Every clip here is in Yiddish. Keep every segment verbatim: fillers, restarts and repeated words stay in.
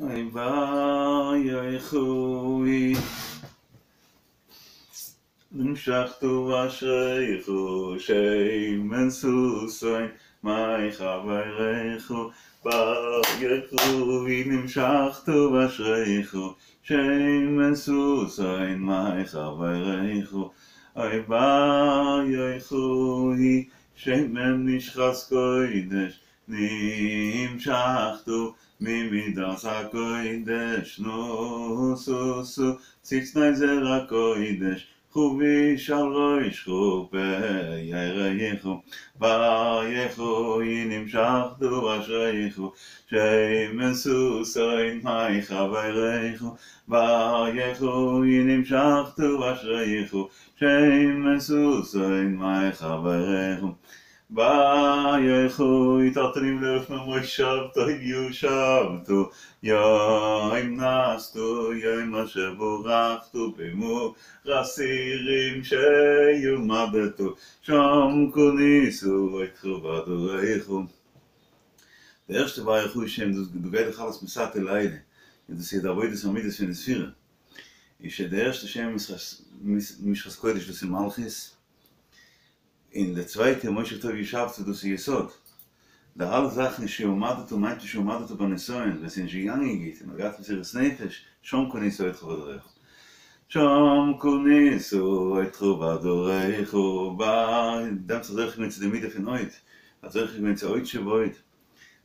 אוי בר יוחאי נמשכת אשריך שמן ששון מחברך בר יוחאי נמשכת אשריך שמן ששון מחברך אוי בר יוחאי שמן משחת קודש נמשכת ממידת הקודש נוסוסו ציצני זרע קודש חוביש על ראשך פארך בר יוחאי נמשכת אשריך שמן ששון מחברך בר יוחאי נמשכת אשריך שמן ששון מחברך בר יוחאי תרתנים לאלף ממושב טוב יושבתו יום נסתו יום אשר בורכתו במור אסירים שיומדתו שם כוניסו אתכו בדוריכו. די ערשטע בר יוחאי שם דאס דא גייט דאך אלעס מסתתא לעילא, און דאס איז די עבודת המידות פון די ספירה, איז די ערשטע שם משחת קודש דאס איז מלכות, און די צווייטע מושב טוב ישבת דאס איז יסוד. די אלע זאכן שעמדת מיינט נישט שעמדת בנסיון, ווען ס'איז נישט געגאנגען גוט און מ'האט געהאט מסירות נפש, שם קנית אודך בדרכיך. שם קנית אודך בדרכיך, ביי דעם זוכה געווען צו די מידה פון הוד, האט זוכה געווען צו הוד שבהוד.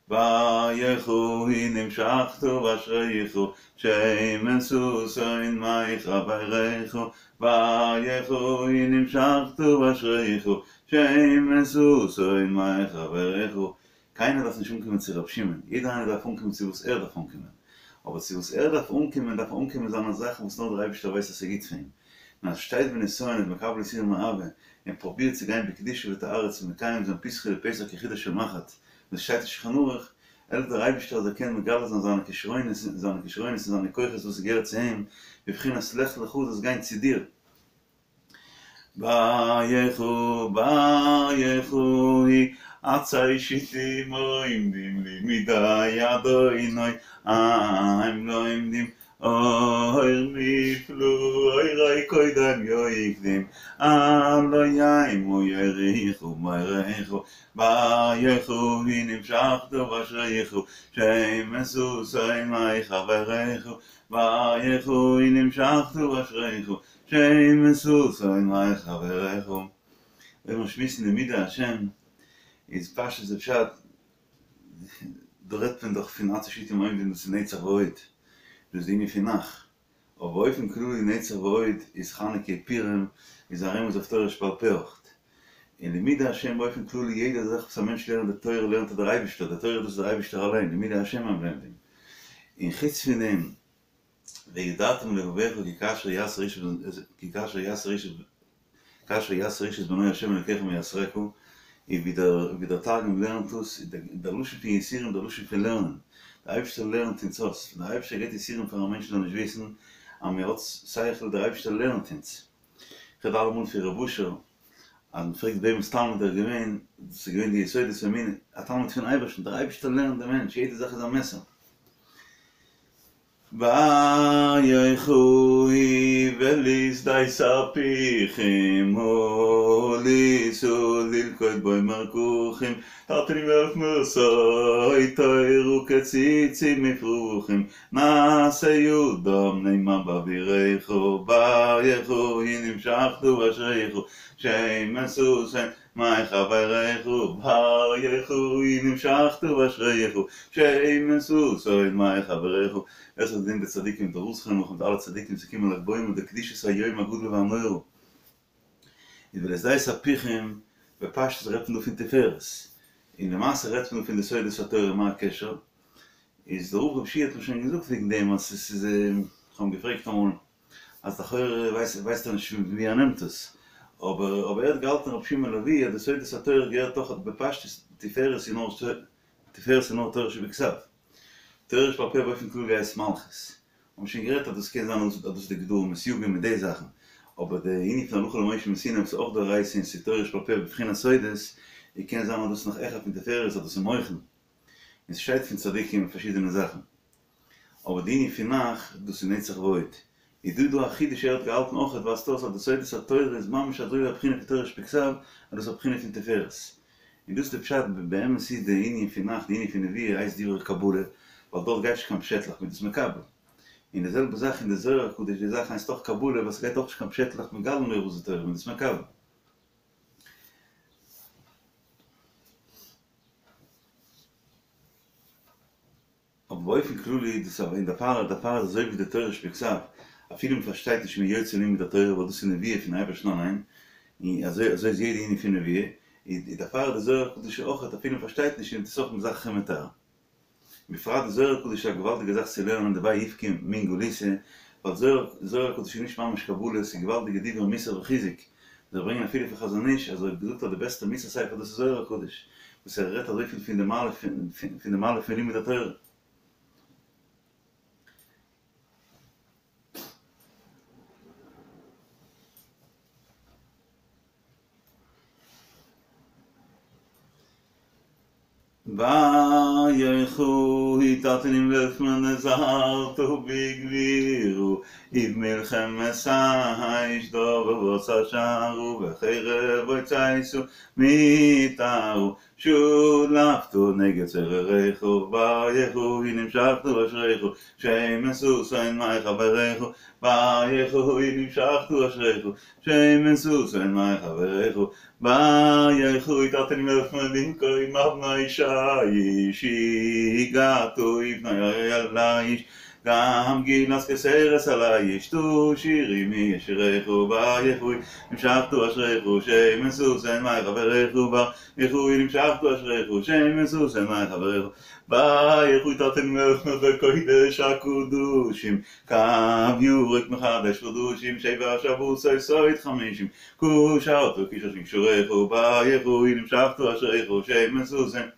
בר יוחאי נמשכת אשריך שמן ששון מחברך בר יוחאי נמשכת אשריך שמן ששון מחברך. קיינער דארף נישט אנקומען צו רבי שמעון, יעדער איינער דארף אנקומען צו וואס ער דארף אנקומען, אבער צו וואס ער דארף אנקומען דארף ער אנקומען זיינע זאכן וואס נאר דער אייבערשטער ווייסט אז ס'איז גוט פאר אים, און אז שטייט בנסיון איז מקבל יסורים מאהבה און פרובירט צו גיין בקדושה וטהרה צו מקיים זיין פתחו לי פתח כחודו של מחט, וואס שטייט אין שולחן ערוך, העלפט דער אייבערשטער אז ער קען מגלה זיין זיינע כשרונות זיינע כשרונות און זיינע כוחות וואס געהערט צו אים, בבחינת לך לך זאלסט גיין צו דיר. בר יוחאי בר יוחאי עצי שיטים עומדים לימודי אדוני הם לומדים אור מופלא אורי קודם יוקדים הלא המה יוריך ומוריך בר יוחאי נמשכת אשריך שמן ששון מחברך בר יוחאי נמשכת אשריך שמן ששון מחברך. אויב מיר שמועסן לימודי השם איז פשטות די פשט, דא רעדט מען דאך פון עצי שיטים עומדים דאס איז נצח והוד, דאס איז די ענין פון נ"ך, אבער באופן כללי נצח והוד איז חנוכה פורים איז א רמז אויף תורה שבעל פה אויך, און לימודי השם באופן כללי יעדע זאך וואס א מענטש לערנט די תורה לערנט ער דער אייבישטער, די תורה דאס איז דער אייבישטער אליין, לימודי השם הם לומדים, און חוץ פון דעם וידעתם בלבבך כי כאשר יסר איש כי כאשר יסר איש כאשר יסר איש את בנו ה' אלוקיך מייסרך, און ווי דער ווי דער תרגום לערנט עס, דער לשון פון יסורים דער לשון פון לערנען, דער אייבערשטער לערנט אונז אויס, ווען דער אייבערשטער געבט יסורים פאר א מענטש זאל נישט וויסן אז מען האט שכל, דער אייבערשטער לערנט אונז. איך רעד אלעמאל פון ר' אשר, אז מען פרעגט וועמענס תלמיד ער איז געווען, דאס איז געווען די יסודות האמונה, א תלמיד פון אייבערשטן, דער אייבערשטער לערנט דעם מענטש, יעדע זאך איז א מעסער. בר יוחאי ולשדה תרפיחים עלית ללכוד בו מרקחים תרתין ואלף מרסוי תורה כציצים מפרחים נעשה אדם נאמן בעבורך בר יוחאי נמשכת אשריך שמן ששון מחברך בר יוחאי נמשכת אשריך שמן ששון מחברך. עס האט געדינט די צדיקים די רוז חינוך מיט אלע צדיקים צו קומען לג בעומר די קדושת היום הגדול והנורא איז ולשדה תרפיחים בפשטות רעדט מען דא פון תפארת און למעשה רעדט מען דא פון די סודות התורה מה הקשר איז דער רב רב שיע האט מיר שוין געזאגט וועגן דעם אז עס איז איך האב אים געפרעגט אמאל אז לכאורה ווייסט ער נישט פון ווי ער נעמט עס, אבער אבער ער האט געהאלטן רבי שמעון לביא אז די סודות התורה געהערט אויך בפשטות, תפארת איז נאר תפארת איז נאר תורה שבכתב, תורה שבעל פה באופן כללי הייסט מלכות, האבן שוין גערעדט אז דאס קען זיין אז דאס איז די גדרים און סייגים מיט די זאכן, אבער די ענין פון הלכה למשה מסיני וואס איז אויך דאורייתא און ס'איז תורה שבעל פה בבחינת סודות, און קען זיין אז דאס איז נאך העכער פון תפארת אז דאס איז מוחין, און ס'שטייט פון צדיקים פארשידענע זאכן. אבער די ענין פון נ"ך, דאס איז נצח והוד. איז דא דא א חידוש ער האט געהאלטן אויכעט ווייזט אויס אז די סודות התורה איז ממש אזוי ווי א בחינה פון תורה שבכתב, אז דאס איז א בחינה פון תפארת. און דאס איז די פשט, באמת איז די ענין פון נ"ך, די ענין פון נבואה הייסט דברי קבלה, ווייל דארט גייט נישט קיין פשעטלעך מ'איז דאס מקבל. און די זעלבע זאך אין די זוהר הקדוש, די זאך הייסט אויך קבלה ווייל ס'גייט אויך נישט קיין פשעטלעך מגלין אויך וואס די תורה מ'איז דאס מקבל. אבער באופן כללי איז דאס און דערפאר דערפאר איז אזוי ווי די תורה שבכתב, אפילו מען פארשטייט נישט מ'איז יוצא לימוד התורה ווייל דאס איז נבואה פון אייבערשטן אליין, און אזוי אזוי איז יעדע ענין פון נבואה, איז דערפאר איז די זוהר הקדוש אויך אפילו מען פארשטייט נישט איז דאס אויך מזכך ומטהר. בפרט די זוהר הקדוש איז א געוואלדיגע זאך צו לערנען דבי איפכא מן גלותא, ווייל זוהר זוהר הקדוש איז נישט ממש קבלה, ס'איז געוואלדיגע דברי מוסר וחיזוק, זיי ברענגען אפילו פון חזון איש אז ער האט געזאגט אז די בעסטע מוסר ספר דאס איז זוהר הקדוש, וואס ער רעדט אזויפיל פון די מעלה פון פון די מעלה פון לימוד התורה. בר יוחאי תתנים לפני נזהרת בגבירו ובמלחמת האש דובב עשה שערו וחרב הוצאתו מיתרו שלפתו נגד צורריך בר יוחאי נמשחת אשריך שמן ששון מחבריך בר יוחאי נמשחת אשריך שמן ששון מחבריך בר יוחאי תתנים לפני במקום אבני שיש הגעת ובני אל האיש גם גילת כסרס על האיש תשירי מי ישירך בר יוחאי נמשחת אשריך שמן ששון מחבריך בר יוחאי נמשחת אשריך שמן ששון מחבריך בר יוחאי תתנים לפני בקודש הקדושים קו ירוק מחדש חדושים שבע שבתות סוד חמישים קשרת קשר שקשוריך בר יוחאי נמשחת אשריך שמן ששון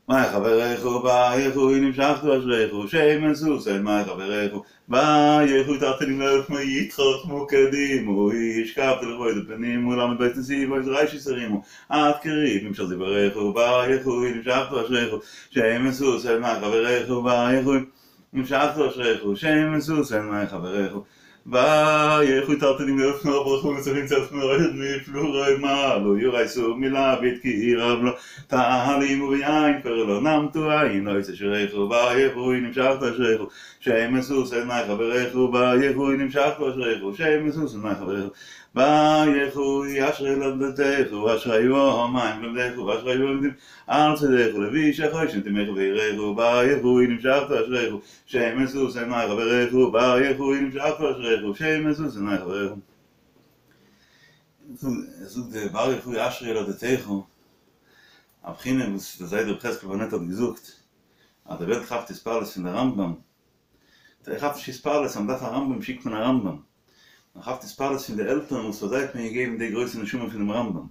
מחבריך בר יוחאי נמשחת אשריך שמן ששון מחבריך בר יוחאי תתנים לפני יתחכמו קדימו השכבת לכבוד פנימו למד בית נתיבות ראשית הרימו עד קריב נמשך דבריך בר יוחאי נמשחת אשריך שמן ששון מחבריך בר יוחאי נמשחת אשריך שמן ששון מחבריך בר יוחאי תתנים לפני ברחו מצבים צפנו מפלורי מעלו יורייסו מלביד כי רב לו תהלימו ויין קורא לו נמתו עין לא יצא שיריך בר יוחאי נמשחת אשריך שמן ששון מחבריך בר יוחאי נמשחת אשריך שמן ששון מחבריך בר יוחאי אשרי ילדתך אשרי המים לומדיך ואשרי לומדים על צדיך לביא שחושן תמך ויראך בר יוחאי נמשחת אשריך שמן ששון מחבריך בר יוחאי נמשחת אשריך שמן ששון מחבריך זאגט דער בר יוחאי אשרי ילדתך א בחינה וואס דער זיידע רבי חזקאל פארנעט האט געזאגט אז די וועלט כאפט התפעלות פון די רמב"ם ער כאפט נישט התפעלות אז מ'דארף א רמב"ם שיקט מען א רמב"ם מען כאפט התפעלות פון די עלטערן וואס פאר זיי האט מען געגעבן די גרויסע נשמה פונעם רמב"ם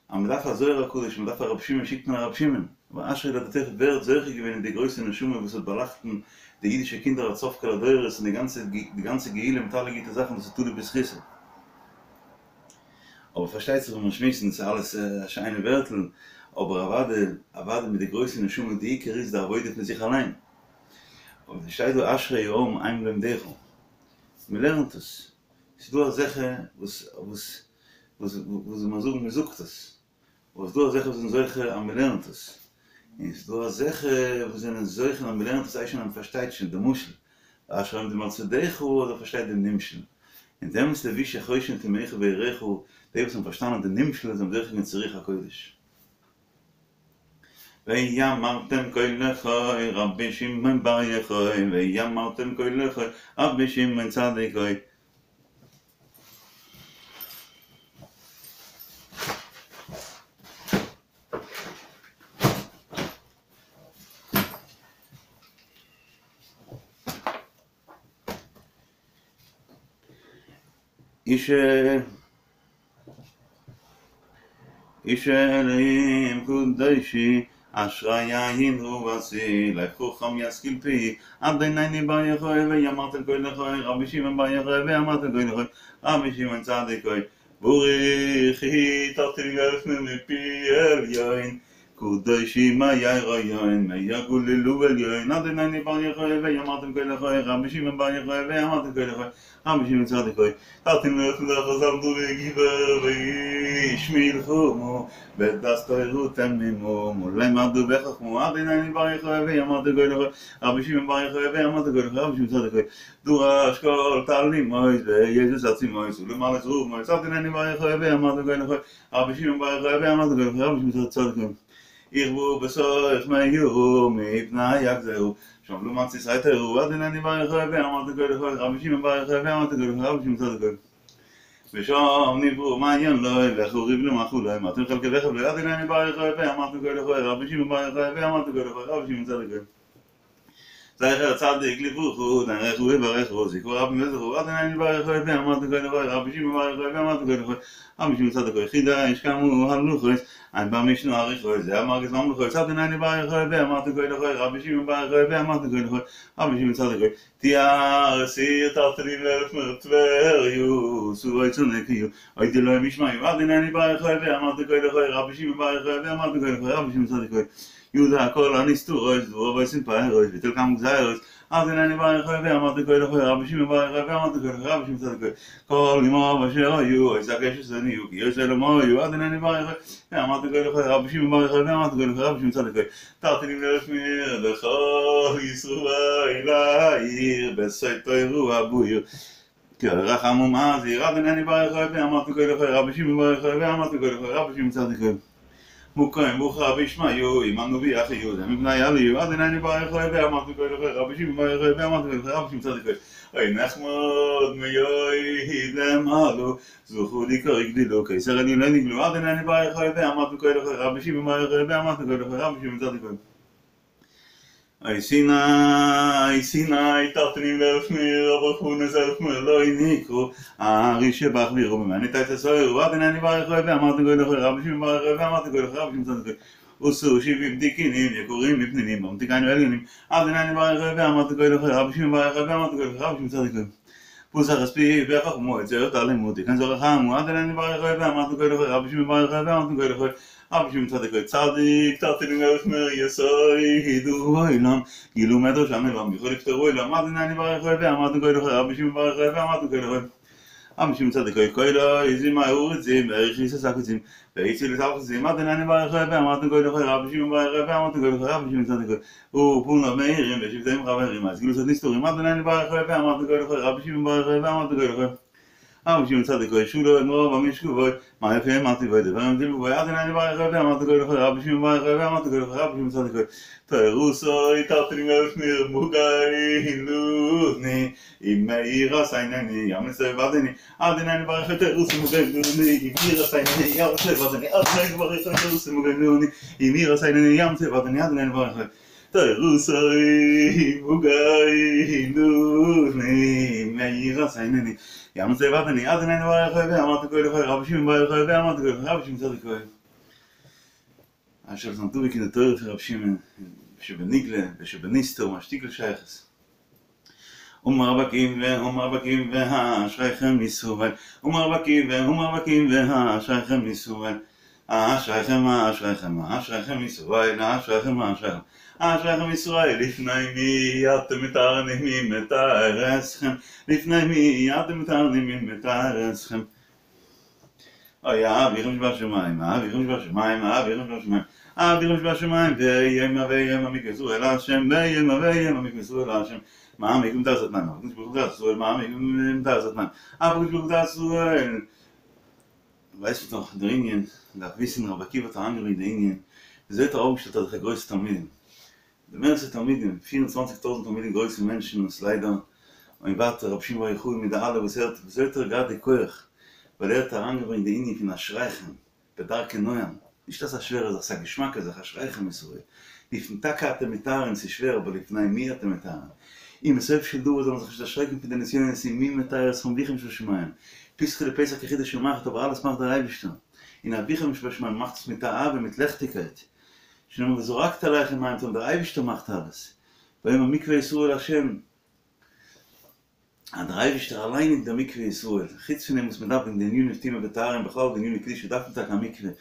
אז מען דארף א זוהר הקדוש מען דארף א רבי שמעון שיקט מען א רבי שמעון אבער אשרי ילדתך ווער האט זוכה געווען אין די גרויסע נשמה וואס האט באלאכטן די אידישע קינדער עד סוף כל הדורות און די גאנצע די גאנצע גאולה מיט אלע גוטע זאכן דאס איז תלוי בזכותו אבער פארשטייט זיך ווען מיר שמועסן ס'איז אלעס א שיינע ווערטל אבער אוודאי אוודאי מיט די גרויסע נשמה די עיקר איז די עבודה פון זיך אליין אבער ס'שטייט דא אשרי העם הם לומדיך מען לערנט עס, ס'איז דא אזעלכע וואס וואס וואס וואס זאל מען זאגן מען זאגט עס, אבער ס'איז דא אזעלכע וואס זענען זוכה אז מען לערנט עס, און ס'איז דא אזעלכע וואס זענען זוכה אז מען לערנט עס הייסט שוין אז מען פארשטייט שוין די משל, אשרי העומדים על צדך אז ער פארשטייט דעם נמשל, און דעמאלטס לבושי חושן תמיך ויראיך, די וואס האבן פארשטאנען די נמשל זענען זוכה געווען צו רוח הקודש. ואמרתם כה לחי רבי שמעון בר יוחאי ואמרתם כה לחי רבי שמעון צדיק הוי. איש איש אלהים קדושי אשרי עין רואתי לב חכם ישכיל פי אדונינו בר יוחאי ואמרתם כה לחי רבי שמעון בר יוחאי ואמרתם כה לחי רבי שמעון צדיק הוי בריך הוא תרתי גפן מפי עליון קדושים מהיריון מהגליל עליון אדוני בר יוחאי ואמרתם כה לחי רבי שמעון בר יוחאי ואמרתם כה לחי רבי שמעון צדיק הוי תרתים לאלף מזרח זמדו וגיבר ואיש מלחומו בדס תוירו תמימו מולי מרדו בחכמו אדוני בר יוחאי ואמרתם כה לחי רבי שמעון בר יוחאי ואמרתם כה לחי רבי שמעון צדיק הוי דורש כל תלים מויז ויזוס עצי מויז ולמעלה זרוב מויז אדוני בר יוחאי ואמרתם כה לחי רבי שמעון בר יוחאי ואמרתם כה לחי רבי שמעון צדיק הוי ירבו בסוף מיו מפני יגזרו שם לא מצי סייטרו אדוני בר יוחאי ואמרתם כה לחי רבי שמעון בר יוחאי ואמרתם כה לחי רבי שמעון צדיק הוי ושם נברו מעיין לוי וחוריב למחו לוי מתן חלקי וחב לוי אדוני בר יוחאי ואמרתם כה לחי רבי שמעון בר יוחאי ואמרתם כה לחי רבי שמעון צדיק הוי זכר צדיק לברוכו דרכו וברכו זכרו רבי מזכו אדוני בר יוחאי ואמרתם כה לחי רבי שמעון בר יוחאי ואמרתם כה לחי רבי שמעון צדיק הוי חידה איש קמו הלוכס אין במשנה אריכו זה אמר גזלם לכו אדוני בר יוחאי ואמרתם כה לחי רבי שמעון בר יוחאי ואמרתם כה לחי רבי שמעון צדיק הוי תיאר סיר תרתלים לאלף מרטבריוס סורי צונקיו אוי דלא משמעיו אדוני בר יוחאי ואמרתם כה לחי רבי שמעון בר יוחאי ואמרתם כה לחי רבי שמעון צדיק הוי יהודה כל הנסתורויס דברו ויסין פארויס ביטל כם גזיירויס אדוני בר יוחאי ואמרתם כה לחי רבי שמעון בר יוחאי ואמרתם כה לחי רבי שמעון צדיק הוי כל אמו אשר היו אוי זקש וסניו כי יוסי אלומו היו אדוני בר יוחאי ואמרתם כה לחי רבי שמעון בר יוחאי ואמרתם כה לחי רבי שמעון צדיק הוי תרתינים לאלף מיר לכל ישראל העיר בסוי תוירו אבויר כי רחמו מזיר אדוני בר יוחאי ואמרתם כה לחי רבי שמעון בר יוחאי ואמרתם כה לחי רבי שמעון צדיק הוי מוקרים בוכה וישמעיו עמנו ויחיו זה מבני עליו אדוני בר יוחאי ואמרתם כה לחי רבי שמעון בר יוחאי ואמרתם כה לחי רבי שמעון צדיק הוי אוי נחמוד מיוי למעלו זוכו לי כרי גדילו קיסר אני לא נגלו אדוני בר יוחאי ואמרתם כה לחי רבי שמעון בר יוחאי ואמרתם כה לחי רבי שמעון צדיק הוי אוי סיני סיני תרתנים לאלף מיר אברכו נזלף מיר לא יניקו הארי שבח וירו ממני תתסוירו אדוני בר יוחאי ואמרתם כה לחי רבי שמעון בר יוחאי ואמרתם כה לחי רבי שמעון צדיק הוי עשו שבעים תיקינים יקורים מפנינים במתיקיים ועליונים אדוני בר יוחאי ואמרתם כה לחי רבי שמעון בר יוחאי ואמרתם כה לחי רבי שמעון צדיק הוי פוסח הספי וחכמו את זרת אלימות תיקן זרח עמו אדוני בר יוחאי ואמרתם כה לחי רבי שמעון בר יוחאי ואמרתם כה לחי רבי שמעון צדיק הוי צדיק תרתינים לאלף מיר יסוידו עולם גילו מדרש עמלם יכול לפתרו עולם אדוני בר יוחאי ואמרתם כה לחי רבי שמעון בר יוחאי ואמרתם כה לחי רבי שמעון צדיק הוי כל איזים האורצים ואריכיס הסקוצים ואיציל לסלחצים אדוני בר יוחאי ואמרתם כה לחי רבי שמעון בר יוחאי ואמרתם כה לחי רבי שמעון צדיק הוי ופונו מאירים ושבטים חברים אז גילו סוד נסתורים אדוני בר יוחאי ואמרתם כה לחי רבי שמעון בר יוחאי ואמרתם כה לחי רבי שמעון צדיק הוי שולו אמרו במשכבוי מה יפה אמרתי בוי דבר אמתי בוי אדוני בר יוחאי ואמרתם כה לחי רבי שמעון בר יוחאי ואמרתם כה לחי רבי שמעון צדיק הוי תרוסוי תרתינים לאלף מיר מוגי לוני אם מאירה סיינני ים לסבדני אדוני בר יוחאי תרוסי מוגי לוני אם מאירה סיינני ים לסבדני אדוני בר יוחאי תרוסי מוגי לוני אם מאירה סיינני ים לסבדני אדוני בר יוחאי תרוסוי מוגי לוני מאירה סיינני ים לסבדני אדוני בר יוחאי ואמרתם כה לחי רבי שמעון בר יוחאי ואמרתם כה לחי רבי שמעון צדיק הוי אשר זנתו בקין התויר של רב שמעון שבניגלה ושבניסטר משתיק לשייכס אומר בקים ואומר בקים והאשריכם ישראל אומר בקים ואומר בקים והאשריכם ישראל אשריכם אשריכם אשריכם ישראל אשריכם אשריכם אשריכם ישראל לפני מי אתם מתארנים מי מתאר אתכם לפני מי אתם מתארנים מי מתאר אתכם אוי אביכם שבשמיים אביכם שבשמיים אביכם שבשמיים אביכם שבשמיים וימה וימה מקבצו אל השם וימה וימה מקבצו אל השם מעמיק תעשת מים אבקש ברוך תעשו מעמיק תעשת מים אבקש ברוך תעשו weißt du noch der Indien darf wissen aber kiva ta andere in der Indien seht auch steht der größte Talmidim der meiste Talmidim vierundzwanzigtausend Talmidim größte Menschen und leider und warte Rab Shimon bar Yochai mit der alle was er was er gerade koch weil er hat angebringt die Indien von Aschreichen bedarke Neuem nicht das schwere das ist Geschmack das Aschreichen ist so לפני אתם מתארים זה שווער אבל לפני מי אתם מתארים אם בסוף של דור הזה מזכיר של השרקים פי דנסיון נסים מי מתאר סכום ביכם של שמיים פסח לפסח כחיד השומח טוב alles macht der Eibischter in אביכם שבשמיים macht es mit der Abe mit Lechtigkeit שנאמר וזורקת עלייך מים טוב der Eibischter macht alles ויאמר מקווה ישראל השם der Eibischter allein in der Mikve Israel. חוץ פון דעם וואס מען דארף אין די ענינים טומאה וטהרה בכלל די עניני קדושה דארף מען טאקע א מקווה.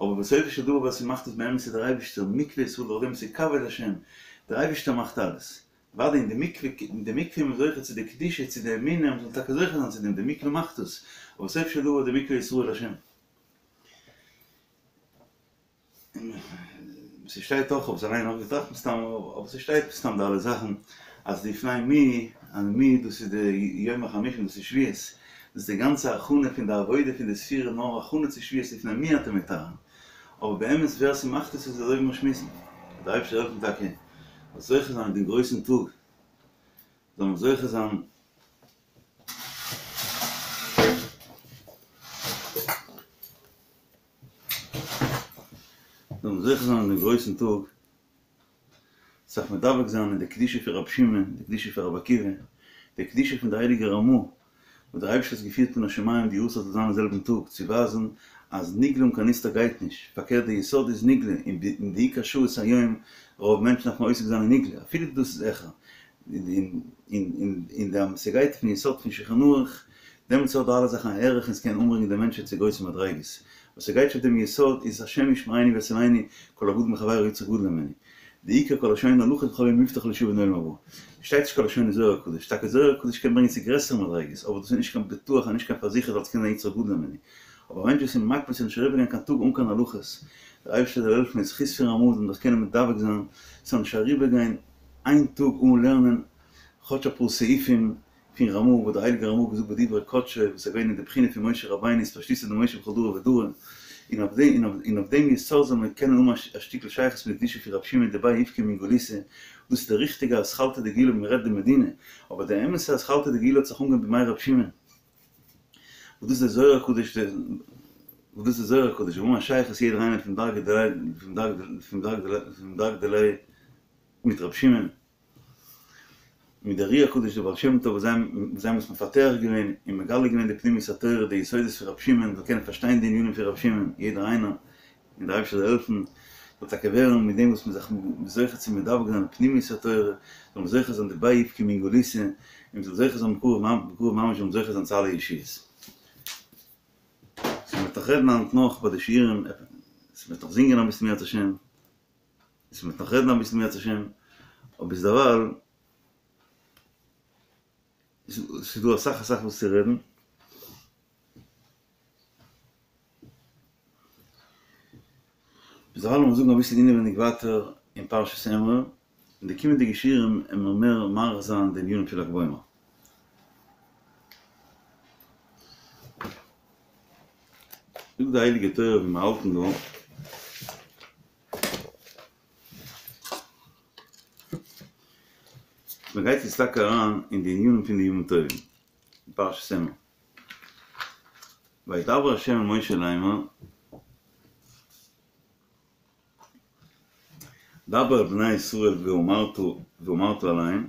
אבער בסופו של דבר ווער ס'מאכט עס באמת איז דער אייבערשטער, מקווה ישראל דורך דעם איז כבוד השם, דער אייבערשטער מאכט אלעס. אוודאי אין די מקווה, אין די מקווה איז מען זוכה צו די קדושה, צו די אמונה, מ'זאל טאקע זוכה זיין צו דעם, די מקווה מאכט עס, אבער בסופו של דבר די מקווה ישראל השם. ס'שטייט אויך, כ'האב עס אליין נאך געטראכט מסתם, אבער ס'שטייט מסתם די אלע זאכן, אז לפני מי, אז מי דאס איז די יום החמישים דאס איז שבועות, דאס איז די גאנצע הכנה פון די עבודה פון די ספירה נאר הכנה צו שבועות לפני מי אתם מטהרין, אבער באמת ווער ס'מאכט עס איז אזוי ווי מיר שמועסן, דער אייבערשטער זאל העלפן טאקע זאל זוכה זיין אין דעם גרויסן טאג, זאל מען זוכה זיין. זאל מען זוכה זיין אין דעם גרויסן טאג זיך מדבק זיין אין די קדושה פון רבי שמעון, די קדושה פון רבי עקיבא, די קדושה פון די הייליגע רמ"א, וואס דער אייבערשטער האט געפירט מן השמים די יארצייט זאל זיין אין זעלבן טאג, צו ווייזן אז נגלה אן קיין נסתר גייט נישט, פארקערט די יסוד איז נגלה, און די עיקר שעות היום, רוב מענטשן דארפן עוסק זיין אין נגלה, אפילו דאס איז העכער, און די ס'גייט פון יסוד פון שולחן ערוך, דעמאלטס האט די אלע זאכן א ערך און ס'קען אנברענגען די מענטשן צו גרויסע מדריגות. וואס ס'גייט נישט אויף דעם יסוד איז השם ישמרנו ויצילנו כל הגדול מחבירו יצר גדול הימנו. די עיקר כל השונה הלכות בכל יום מובטח לו שהוא בן עולם הבא. שטייט נישט כל השונה זוהר הקדוש, טאקע זוהר הקדוש קען ברענגען צו גרעסערע מדריגות, אבער דאס איז נישט קיין בטוח און נישט קיין פארזיכערט אלס קען זיין יצר גדול הימנו. אבער א מענטש וואס איז מקפיד ס'זאל נישט אריבערגיין קיין טאג אן קיין הלכות, דער אייבערשטער זאל העלפן אין זכות פון רמ"א זאל מען זיך קענען מדבק זיין, ס'זאל נישט אריבערגיין איין טאג אן לערנען כאטש אפאר סעיפים פון רמ"א וואס דער הייליגער רמ"א האט געזאגט בדברי קדשו וואס איז געווען אין די בחינה פון משה רבינו אתפשטותא דמשה בכל דרא ודרא, און אויף דעם און אויף דעם יסוד זאל מען קענען האבן א שטיקל שייכות מיט די קדושה פון רבי שמעון דבי איפכא מן גלותא, דאס איז די ריכטיגע אתחלתא דגאולה ווען מען רעדט די מדינה, אבער די אמת'ע אתחלתא דגאולה האט זיך אנגעהויבן בימי רבי שמעון. וואס דאס איז דער זוהר הקדוש וואס דאס איז זוהר הקדוש וואו האבן א שייכות יעדער איינער פון דרגא דיליה פון דרגא פון דרגא פון דרגא דיליה מיט רבי שמעון מיט דער אר"י הקדוש דער בעל שם טוב וואס זיי וואס זיי האבן עס מפתח געווען און מגלה געווען די פנימיות התורה די יסודות פון רבי שמעון זאל קענען פארשטיין די ענינים פון רבי שמעון יעדער איינער און דער אייבערשטער זאל העלפן זאל טאקע ווערן מיט דעם וואס מ'איז זיך זוכה צו מדבק זיין אין פנימיות התורה, זאל מען זוכה זיין דבי איפכא מן גלותא, און מ'זאל זוכה זיין בקרוב בקרוב ממש זאל מען זוכה זיין צו אלע ישועות. סאו מ'וועט נאך רעדן היינט נאך ביי די שיעורים, מ'וועט נאך זינגען אביסל אם ירצה השם, מ'וועט נאך רעדן אביסל אם ירצה השם, אבער ביזדערווייל ס'איז דא אסאך אסאך וואס צו רעדן. ביזדערווייל לאמיר זאגן אביסל אינעווייניג ווייטער אין פרשת אמור, אין די קומענדיגע שיעורים וועלן מיר מער מאריך זיין די ענינים פון ל"ג בעומר. זאגט די הייליגע תורה ווי מיר האלטן דא, מען גייט יעצט טאקע אריין אין די ענינים פון די ימים טובים אין פרשת אמור. וידבר ה' אל משה לאמר, דבר אל בני ישראל ואמרת ואמרת אליהם,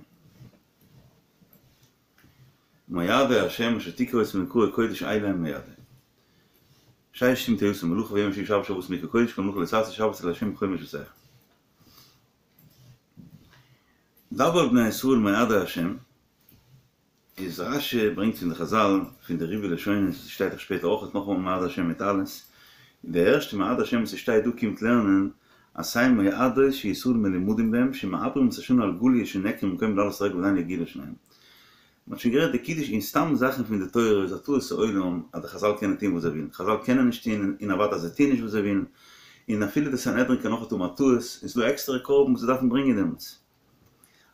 מועדי ה' אשר תקראו אותם מקראי קודש אלה הם מועדי. ששת ימים תעשה מלאכה וביום השביעי שבת שבת מקרא קודש כל מלאכה לא תעשו שבת לה' בכל מושבותיכם. דבר אל בני ישראל מועדי ה' איז רש"י ברענגט פון די חז"ל פון די ריבוי לשונות וואס שטייט דאך שפעטער אויך נאכאמאל מועדי השם מיט אלעס, און די ערשטע מועדי השם וואס ס'שטייט דא קומט לערנען אז עשה מועדות שישראל מלומדים בהם שמעברים את השנה על גליה שנעקרה ממקומה לעלות רגל ועדיין לא הגיעו לשניהם. מ'האט שוין גערעדט די קידוש און סתם זאכן פון די תורה איז א טעות העולם אז די חז"ל קענען טוהן וואס זיי ווילן, חז"ל קענען נישט טוהן און אוודאי אז זיי טוהן נישט וואס זיי ווילן, און אפילו די סנהדרין קען אויך האבן א טעות, און ס'איז דא עקסטערע קרבן וואס זיי דארפן ברענגען דעמאלטס.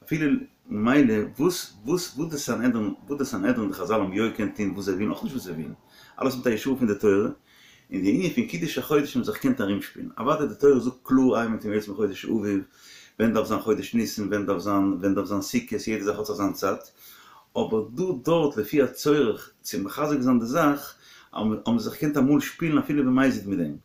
אפילו ממילא וואס וואס וואס די סנהדרין וואס די סנהדרין די חז"ל האבן יא געקענט טוהן וואס זיי ווילן אויך נישט וואס זיי ווילן אלעס מיט א ישועה פון די תורה און די ענין פון קידוש החודש האבן זיך געקענט ארומשפילן אוודאי די תורה זאגט קלאר איין מינוט יוצא מחודש אביב ווען דארף זיין חודש ניסן ווען דארף זיין ווען דארף זיין סוכות יעדע זאך האט זיך זיין צייט אבער דא דארט לפי הצורך צו מחזק זיין די זאך האבן זיי זיך געקענט אמאל שפילן אפילו במזיד מיט דעם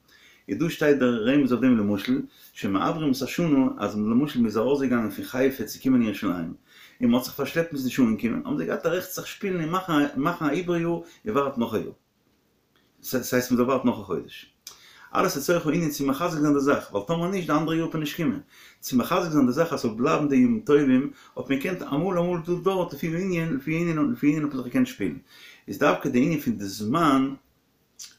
איז דא שטייט דער רמז אויף דעם למשל, שמעברים את השנה, אז למשל מ'איז ארויסגעגאנגען פון חיפה צו קומען אין ירושלים, און מ'האט זיך פארשלעפט מ'איז נישט אנגעקומען, האבן זיי געהאט א רעכט זיך שפילן און מאכן מאכן א עיבור יאר און ווארטן נאך א יאר. ס'הייסט מ'זאל ווארטן נאך א חודש. אלעס לצורך הענין צו מחזק זיין די זאך, ווייל טאמער נישט די אנדערע יאר וועט מען נישט קומען. צו מחזק זיין די זאך אז ס'זאל בלייבן די ימים טובים, האט מען געקענט אמאל אמאל דא דארט לפי הענין, לפי הענין לפי הענין האט מען זיך געקענט שפילן. איז דווקא די ענין פון די זמן,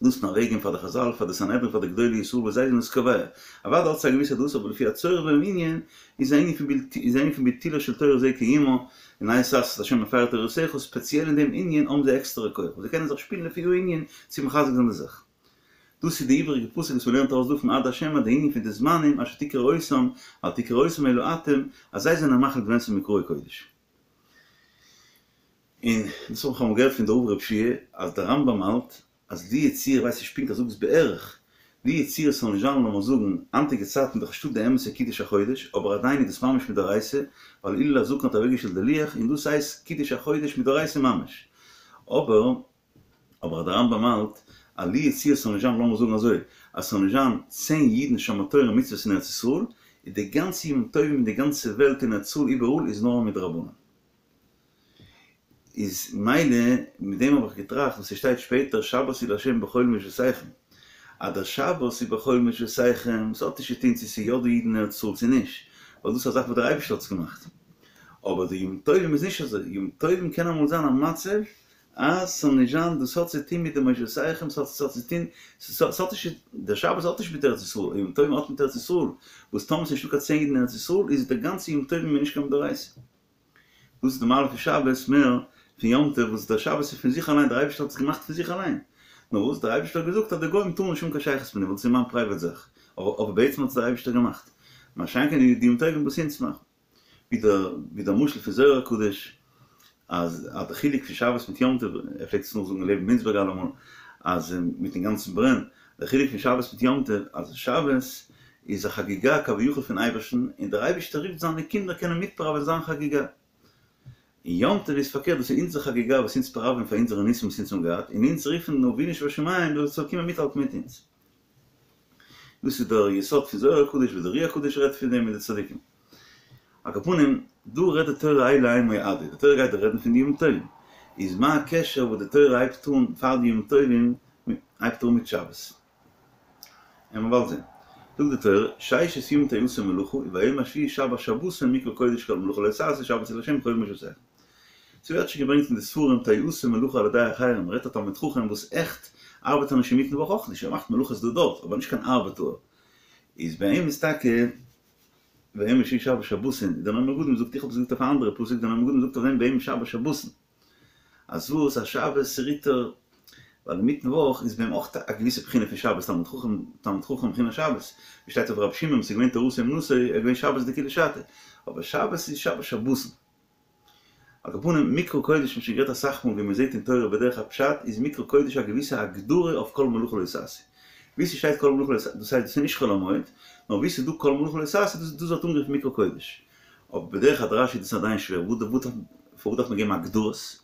דאס נאר וועגן פאר די חזל, פאר די סנהדרין, פאר די גדולי ישראל וואס זיי זענען עס קובע. אוודאי האט עס א געוויסע דאס, אבער לפי הצורך והענין איז א ענין פון איז א ענין פון ביטולה של תורה זה קיימה, און עת לעשות לה' הפרו תורתך, ספעציעל אין דעם ענין האבן זיי עקסטערע כח, זיי קענען זיך שפילן לפי הענין צו מחזק זיין די זאך. דאס איז די איבעריגע פסוק וואס מ'לערנט ארויס דא פון עד השם אז די ענין פון די זמנים אשר תקראו אותם, אל תקראו אותם אלא אתם, אז זיי זענען מחליט ווען ס'איז מקראי קודש. און דאס האב איך אמאל געהערט פון די רב רב שיע אז דער רמב ם האלט אז לו יצוייר, כ'ווייס נישט פונקט, ער זאגט עס בערך, לו יצוייר ס'זאל נישט זיין לאמיר זאגן היינטיגע צייטן דאך נישטא די אמת'ע קידוש החודש אבער עדיין איז דאס ממש מדאורייתא ווייל הלל הזקן האט אוועקגעשטעלט די לוח און דאס הייסט קידוש החודש מדאורייתא ממש אבער אבער דער רמב ם האלט אז לו יצוייר ס'זאל נישט זיין לאמיר זאגן אזוי אז ס'זאל נישט זיין צען אידן שומר תורה ומצוות אין ארץ ישראל איז די גאנצע ימים טובים אין די גאנצע וועלט אין ארץ ישראל איבעראל איז נאר מדרבנן. איז מילא מיט דעם האב איך געטראכט וואס ס'שטייט שפעטער שבת היא לה' בכל מושבותיכם אז דער שבת איז בכל מושבותיכם ס'האט נישט צו טון צו ס'איז יא דא אידן אין ארץ ישראל צו נישט ווייל דאס איז א זאך וואס דער אייבערשטער האט עס געמאכט אבער די ימים טובים איז נישט אזוי ימים טובים קען אמאל זיין א מצב אז ס'זאל נישט זיין דאס האט צו טון מיט די מושבותיכם ס'האט ס'האט צו טון ס'האט נישט דער שבת האט נישט מיט ארץ ישראל ימים טובים האט מיט ארץ ישראל וואס טאמער ס'איז נישטא קיין צען אידן אין ארץ ישראל איז די גאנצע ימים טובים נישט קיין מדאורייתא. דאס איז די מעלה פון שבת מער פון יום טוב וואס דער שבת איז פון זיך אליין דער אייבערשטער האט עס געמאכט פון זיך אליין נאר וואס דער אייבערשטער האט געזאגט אז די גוים טארן נישט האבן קיין שייכות מיט דעם ווייל דאס איז מיין פרייוועט זאך אבער בעצם האט עס דער אייבערשטער געמאכט מה שאין כן די ימים טובים וואס אונז מאכן ווי דער ווי דער משל פון זוהר הקדוש אז אז די חילוק פון שבת מיט יום טוב ער פלעגט עס נאכזאגן לעבן מינצבערג אלעמאל אז מיטן גאנצן ברען דער חילוק פון שבת מיט יום טוב אז שבת איז א חגיגה כביכול פון אייבערשטן און דער אייבערשטער רופט זיינע קינדער קענען מיטפראווען זיין חגיגה. און יום טוב איז פארקערט דאס איז אונזער חגיגה וואס אונז פראווען פאר אונזערע ניסים וואס אונז האבן געהאט און אונז רופן אבינו שבשמים זאל זאל קומען מיטהאלטן מיט אונז. דאס איז דער יסוד פון זוהר הקדוש וואס דער אר"י הקדוש רעדט פון דעם און די צדיקים. על כל פנים, דא רעדט די תורה אלה הן מועדי, די תורה גייט דא רעדן פון די ימים טובים, איז מה הקשר וואס די תורה הייבט אן פאר די ימים טובים הייבט אן מיט שבת? עמער באלד זען. זאגט די תורה, ששת ימים תעשה מלאכה, וביום השביעי שבת שבתון מקרא קודש כל מלאכה לא תעשו שבת היא לה' בכל מושבותיכם. ס'ווערט שוין געברענגט אין די ספרים תעשה מלאכה על ידי אחרים, מ'רעדט א תלמיד חכם וואס עכט ארבעט ער נישט אינמיטן וואך אויך נישט, ער מאכט מלאכות דא דארט, אבער נישט קיין ארבעטאר. איז ביי אים איז טאקע ביום השביעי שבת שבתון, דער נועם מגדים זאגט, איך האב עס געזאגט אויף א אנדערע פסוק, דער נועם מגדים זאגט אויף דעם ביום שבת שבתון, אז וואס אז שבת רוט ער, ווייל אינמיטן וואך איז ביי אים אויך א געוויסע בחינה פון שבת, תלמיד חכם, תלמיד חכם בחינת שבת, ווי שטייט אויף רבי שמעון, ס'איז געווען תורתו אומנותו, ער איז געווען שבת דכולא שתא, אבער שבת איז שבת שבתון. על כל פנים, מקרא קודש מ'האט שוין גערעדט אסאך מאל ווי מ'זעט אין תורה בדרך הפשט איז מקרא קודש א געוויסע הגדרה אויף כל מלאכה לא תעשו. ווי ס'שטייט כל מלאכה לא תעשו, דאס הייסט דאס איז נישט חול המועד, נאר ווי ס'איז דא כל מלאכה לא תעשו דאס דאס ווערט אנגערופן מקרא קודש. אבער בדרך הדרש איז דאס עדיין שווער, פארוואס דארף מען געבן הגדרות?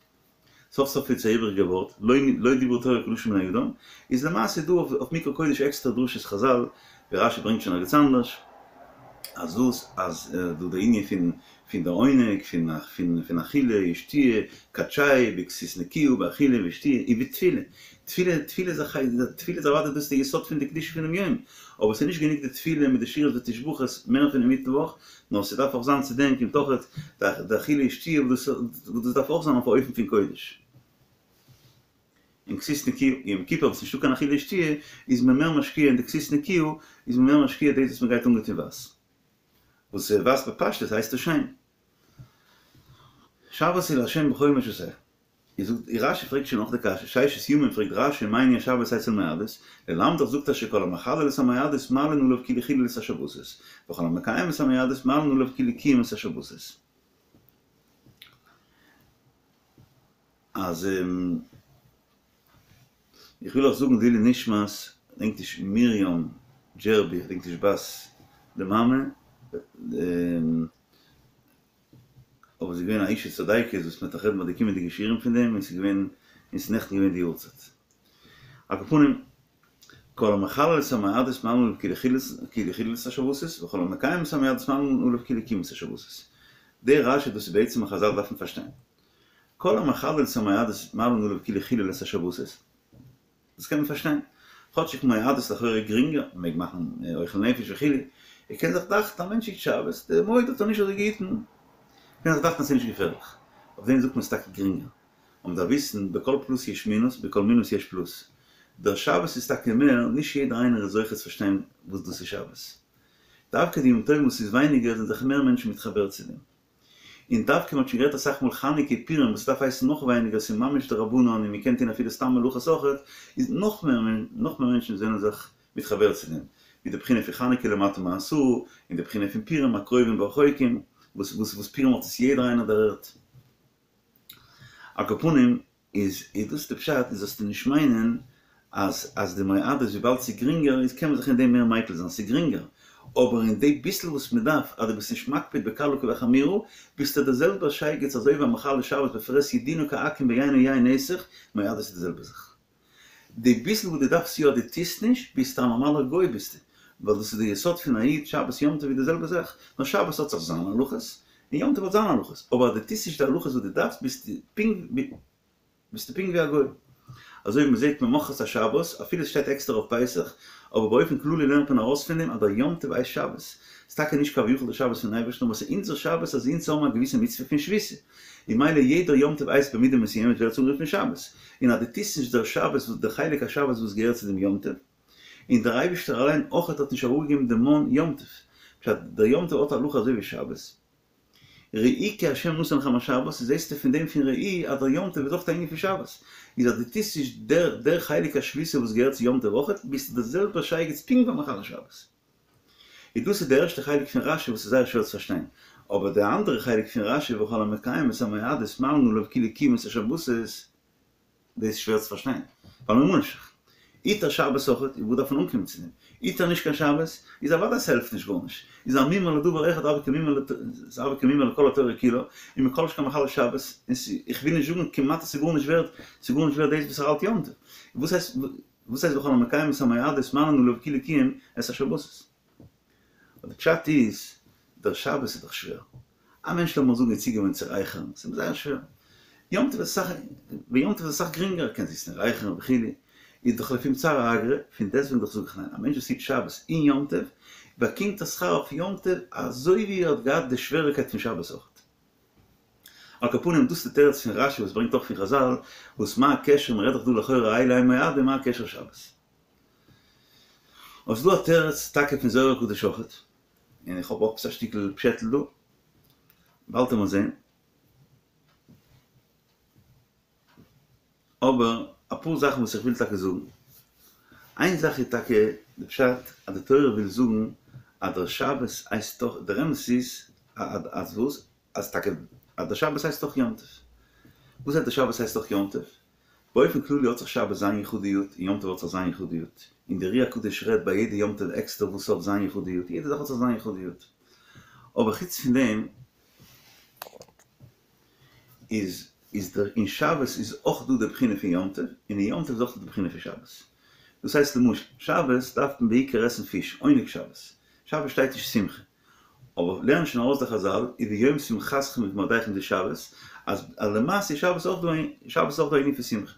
סוף סוף איז עס א איבריגע ווארט, לא לא דברה תורה כלשון בני אדם, איז למעשה דא אויף מקרא קודש עקסטערע דרשות חזל, ווי רשי ברענגט שוין ערגעץ אנדערש, אז וואס אז דא די ענין פון פון די עונג פון פון פון אכילה ושתיה, קדשהו בכסות נקיה באכילה ושתיה ובתפילה, תפילה תפילה איז א תפילה איז אוודאי דאס די יסוד פון די קדושה פונעם יום, אבער ס'איז נישט גענוג די תפילה מיט די שירות ותשבחות מער פון אינמיטן וואך, נאר ס'דארף אויך זיין צו דעם קומט אויך די אכילה ושתיה וואס דאס דארף אויך זיין אויף א אופן פון קודש. און כסות נקיה, יום כיפור וואס נישטא קיין אכילה ושתיה איז מען מער משקיע אין די כסות נקיה, איז מען מער משקיע דאס וואס מ'גייט אנגעטון ווייס. וואס ווייס בפשטות הייסט עס שיין. שבת היא לה' בכל מושבותיכם. איז זאגט רשי פרעגט שוין נאך די קשיא, ששת ימים פרעגט רשי מה ענין שבת אצל מועדות, ללמדך זאגט ער שכל המחלל את המועדות מעלין עליו כאילו חילל את השבתות, וכל המקיים את המועדות מעלין עליו כאילו קיים את השבתות. אז איך וויל אויך זאגן לעילוי נשמת, כ'דענק נישט מרים דזשערבי, כ'דענק נישט בת די מאמע, אבער זי איז געווען א אישה צדיקת וואס מ'וועט נאך רעדן ביי די קומענדיגע שיעורים פון דעם, און ס'איז געווען, און ס'איז נעכטן געווען די יארצייט. על כל פנים, כל המחלל את המועדות מעלין עליו כאילו כאילו חילל את השבתות, וכל המקיים את המועדות מעלין עליו כאילו קיים את השבתות. די רשי דאס איז בעצם א חזל דארף מען פארשטיין. כל המחלל את המועדות מעלין עליו כאילו חילל את השבתות. דאס קען מען פארשטיין. כאטשיג מועדות לכאורה גרינגער, מען מעג מאכן אוכל נפש וכו', ער קען זיך דאכטן א מענטש היט שבת, די מועד האט ער נישט אזוי געהיטן, קען זיך דאכטן אז ס'איז נישט געפערליך. אויף דעם זאגט מען ס'איז טאקע גרינגער. אבער מ'דארף וויסן, בכל פלוס יש מינוס, בכל מינוס יש פלוס. דער שבת איז טאקע מער, נישט יעדער איינער איז זוכה צו פארשטיין וואס דאס איז שבת. דווקא די ימים טובים וואס איז ווייניגער זענען זיך מער מענטשן מתחבר צו דעם. און דווקא מ'האט שוין גערעדט אסאך מאל חנוכה פורים וואס דארף הייסן נאך ווייניגער ס'איז ממש דרבנן און מ'קען טון אפילו סתם מלאכות אויכעט, איז נאך מער נאך מער מענטשן זענען זיך מתחבר צו דעם, ווי די בחינה פון חנוכה למטה מעשרה, און די בחינה פון פורים הקרובים והרחוקים, וואס וואס וואס פורים האט עס יעדער איינער דערהערט. על כל פנים, איז איז דאס די פשט, איז זאלסטו נישט מיינען אז אז די מועדות וויבאלד ס'איז גרינגער איז קען מען זיך אין דעם מער מיקל זיין, ס'איז גרינגער, אבער אין די ביסל וואס מ'דארף, אז דו ביסט נישט מקפיד בקלה כבחמורה, ביסטו דער זעלבער שייגעץ אזוי ווי א מחלל שבת בפרהסיא דינו כעכו"ם ביין או יין נסך, מועדות איז די זעלבע זאך. די ביסל וואס דו דארפסט יא דו טוסט נישט, ביסטו א נארמאלער גוי ביסטו, ווייל דאס איז די יסוד פון א איד, שבת יום טוב איז די זעלבע זאך, נאר שבת האט זיך זיינע הלכות, און יום טוב האט זיינע הלכות, אבער אז דו טוסט נישט די הלכות וואס דו דארפסט ביסטו פונקט ביסטו פונקט ווי א גוי. אזוי ווי מ'זעט ממחרת השבת, אפילו עס שטייט עקסטער אויף פסח, אבער באופן כללי לערנט מען ארויס פון דעם אז דער יום טוב הייסט שבת. ס'איז טאקע נישט כביכול די שבת פון אייבערשטן אבער ס'איז אונזער שבת אז אונז האבן א געוויסע מצוה פון שביתה. און מילא יעדער יום טוב הייסט במידה מסוימת ווערט עס אנגערופן שבת. און אז דו טוסט נישט דער שבת וואס דער חלק השבת וואס געהערט צו דעם יום טוב, און דער אייבערשטער אליין אויכעט האט נישט אראפגעגעבן דעם מן יום טוב, פשט, דער יום טוב האט הלכה אזוי ווי שבת. ראו כי ה' נתן לכם השבת, זעסטו פון דעם פון ראו אז דער יום טוב איז אויך א ענין פון שבת, איז אז דו טוסט נישט דער דער חלק השביתה וואס געהערט צו יום טוב אויכעט, ביסטו דער זעלבער שייגעץ פונקט ווי א מחלל שבת. איז דאס איז דער ערשטער חלק פון רשי וואס איז זייער שווער צו פארשטיין, אבער דער אנדערע חלק פון רשי וכל המקיים את המועדות מעלין עליו כאילו קיים את השבתות, דאס איז שווער צו פארשטיין, ווייל ממה נפשך, היט ער שבת אויכעט, און וואס דארף מען אנקומען צו דעם? היט ער נישט קיין שבת, איז אוודאי ס'העלפט נישט גארנישט, איז א מומר לדבר אחד הוי כמומר כמומר לכל התורה כולה, און מכל שכן מחלל שבת, און איך וויל נישט זאגן כמעט אז ס'איז גארנישט ווערט, ס'איז גארנישט ווערט דאס וואס ער האלט יום טוב. וואס הייסט וואס הייסט וכל המקיים את המועדות מעלין עליו כאילו קיים את השבתות? די פשט איז, דער שבת איז דאך שווער. א מענטש לאמיר זאגן איז צוגעוואוינט צו רייכערן, ס'איז אים זייער שווער. יום טוב איז אסאך, ביי יום טוב איז אסאך גרינגער, ער קען זיצן און רייכערן וכו', איז דאך לפום צערא אגרא, פון דעסטוועגן דאך זאג איך ניין, א מענטש וואס היט שבת און יום טוב, באקומט א שכר אויף יום טוב אזוי ווי ער האט געהאט די שוועריקייט פון שבת אויכעט. על כל פנים דאס איז די תירוץ פון רשי וואס ברענגט אויך פון חזל, וואס מה הקשר, מ'רעדט דאך דא לכאורה אלו הן מועדים, מה הקשר שבת? אבער ס'איז דא א תירוץ טאקע פון זוהר הקדוש אויכעט, און איך האב עפעס א שטיקל פשעטל דא, באלד וועט מען זען. אבער אפאר זאכן וואס איך וויל טאקע זאגן. איין זאך איז טאקע די פשט אז די תורה וויל זאגן אז דער שבת הייסט דאך, דער אמת איז אז וואס? אז טאקע אז דער שבת הייסט דאך יום טוב. וואס הייסט דער שבת הייסט דאך יום טוב? באופן כללי האט זיך שבת זיין יחודיות און יום טוב האט זיך זיין יחודיות, און דער אר"י הקדוש רעדט ביי יעדע יום טוב עקסטער וואס האט זיין יחודיות, יעדע זאך האט זיך זיין יחודיות. אבער חוץ פון דעם איז איז דער אין שבת איז אויך דא די בחינה פון יום טוב, און אין יום טוב איז אויך דא די בחינה פון שבת. דאס הייסט למשל, שבת דארף מען בעיקר עסן פיש, עונג שבת. שבת שטייט נישט שמחה. אבער לערנען שוין ארויס די חזל, וביום שמחתכם ובמועדיכם די שבת, אז למעשה איז שבת אויך דא שבת איז אויך דא א ענין פון שמחה.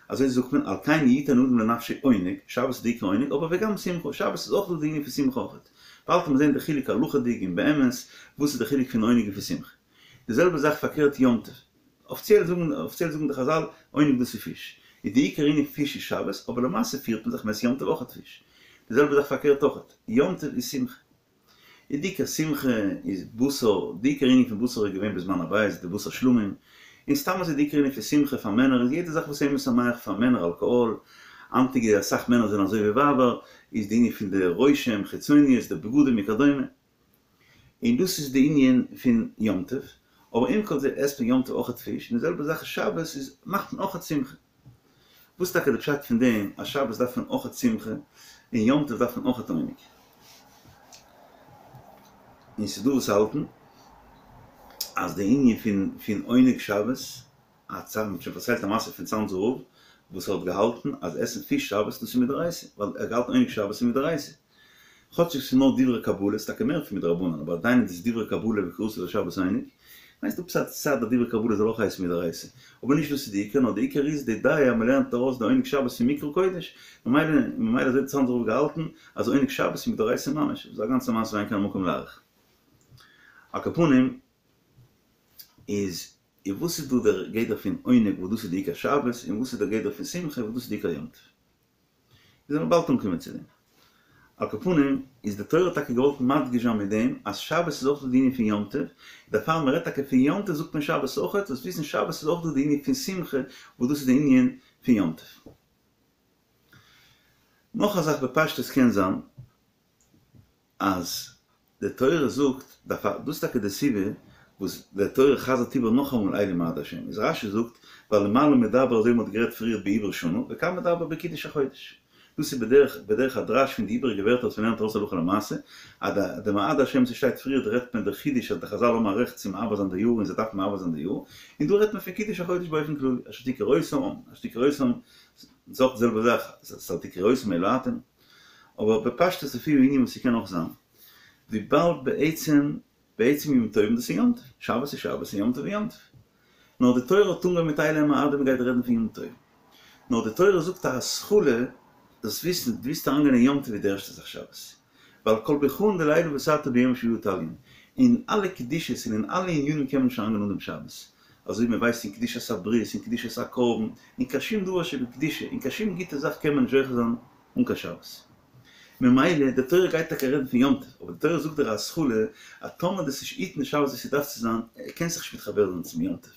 אזוי זאגט מען, על כן יתן אדם לנפשו עונג, שבת איז די עיקר עונג, אבער וגם שמחה, שבת איז אויך דא די ענין פון שמחה אויכעט. באלד וועט מען זען די חילוק הלכה'דיג און באמת, וואס איז די חילוק פון עונג און פון שמחה. די זעלבע זאך פארקערט יום טוב. אפיציעל זאגן אפיציעל זאגן די חזל, עונג דאס איז פיש. איז די עיקר ענין פיש איז שבת, אבער למעשה פירט מען זיך מ'עסט יום טוב אויכעט פיש. די זעלבע זאך פארקערט אויכעט, יום טוב איז שמחה. איז די עיקר שמחה איז בשר, די עיקר ענין פון בשר איז געווען בזמן הבית די בשר שלמים, און סתם אזוי די עיקר ענין פון שמחה פאר מענער איז יעדע זאך וואס איז משמח פאר מענער אלקאהאל, היינטיגע אסאך מענער זענען אזוי ווי ווייבער, איז די ענין פון די רושם, חיצוניות, די בגדים וכדומה. און דאס איז די ענין פון יום טוב, אבער עם כל זה עסט מען יום טוב אויכעט פיש, און די זעלבע זאך שבת איז מאכט מען אויכעט שמחה. וואס איז טאקע די פשט פון דעם אז שבת דארף מען אויכעט שמחה און יום טוב דארף מען אויכעט עונג? און ס'איז דא וואס האלטן אז די ענין פון פון עונג שבת, א צד מ'האט שוין פארציילט א מעשה פון צאנזער רב וואס האט געהאלטן אז עסן פיש שבת דאס איז מדאורייתא, ווייל ער האט געהאלטן עונג שבת איז מדאורייתא. כאטשיג ס'איז נאר דברי קבלה, ס'איז טאקע מער פון מדרבנן, אבער עדיין איז עס דברי קבלה וקראת לשבת עונג. כ'מיין ס'דא עפעס א צד אז דברי קבלה זאל אויך הייסן מדאורייתא. אבער נישט דאס איז די עיקר, נאר די עיקר איז די דעה אז מ'לערנט ארויס די עונג שבת פון מקרא קודש, ממילא ממילא אזוי האט צאנזער רב געהאלטן אז עונג שבת איז מדאורייתא ממש. ס'איז א גאנצע מעשה ואין כאן המקום להאריך. על כל פנים איז און וואס איז דא דער גדר פון עונג וואס דאס איז די עיקר שבת, און וואס איז דער גדר פון שמחה וואס דאס איז די עיקר יום טוב. מיר וועלן באלד אנקומען צו דעם. על כל פנים, איז די תורה האט טאקע געוואלט מדגיש זיין מיט דעם אז שבת איז אויך דא די ענין פון יום טוב, דערפאר מען רעדט טאקע פון יום טוב זאגט מען שבת אויכעט, זאלסט וויסן שבת איז אויך דא די ענין פון שמחה וואס דאס איז די ענין פון יום טוב. נאך א זאך בפשטות קען זיין אז די תורה זאגט, דאס איז טאקע די סיבה וואס די תורה חזר'ט איבער נאכאמאל אלה מועדי השם, איז רש"י זאגט ווייל למעלה מדבר אזוי ווי מ'האט גערעדט פריער בעיבור שנה, וכאן מדבר בקידוש החודש. דאס איז בדרך בדרך הדרש פון די איבעריגע ווערטער וואס מ'לערנט ארויס הלכה למעשה, אז די די מועדי השם וואס שטייט פריער רעדט מען דער חידוש אז די חז"ל האבן א רעכט צו מעבר זיין די יאר און זיי דארפן מעבר זיין די יאר, און דא רעדט מען פון קידוש החודש באופן כללי, אשר תקראו אותם, אשר תקראו אותם, ס'איז אויך די זעלבע זאך, ס'איז אל תקראו אותם אלא אתם. אבער בפשטות לפי הענין וואס ס'קען אויך זיין, וויבאלד בעצם בעצם ימים טובים דאס איז יום טוב, שבת איז שבת און יום טוב איז יום טוב. נאר די תורה האט אנגעהויבן מיט אלה המועדים מ'גייט רעדן פון יום טוב. נאר די תורה זאגט א התחלה, זאלסט וויסן, דו ווילסט אריינגיין אין יום טוב איז די ערשטע זאך שבת. ווייל כל ברכאן דלעילא בתרתא ביומא שביעאה תליין. אין אלע קדושות און אין אלע ענינים קען מען נישט אריינגיין אן דעם שבת. אזוי ווי מען ווייסט אין קדושת הברית, אין קדושת הקרבן, אין קיין שום דבר שבקדושה, אין קיין שום גוטע זאך קען מען נישט זוכה זיין אן קיין שבת. ממילא די תורה גייט טאקע רעדן פון יום טוב, אבער די תורה זאגט דיר א התחלה אז טאמער דו'סט נישט היטן שבת ווי ס'דארף צו זיין, קענסט זיך נישט מתחבר זיין צום יום טוב.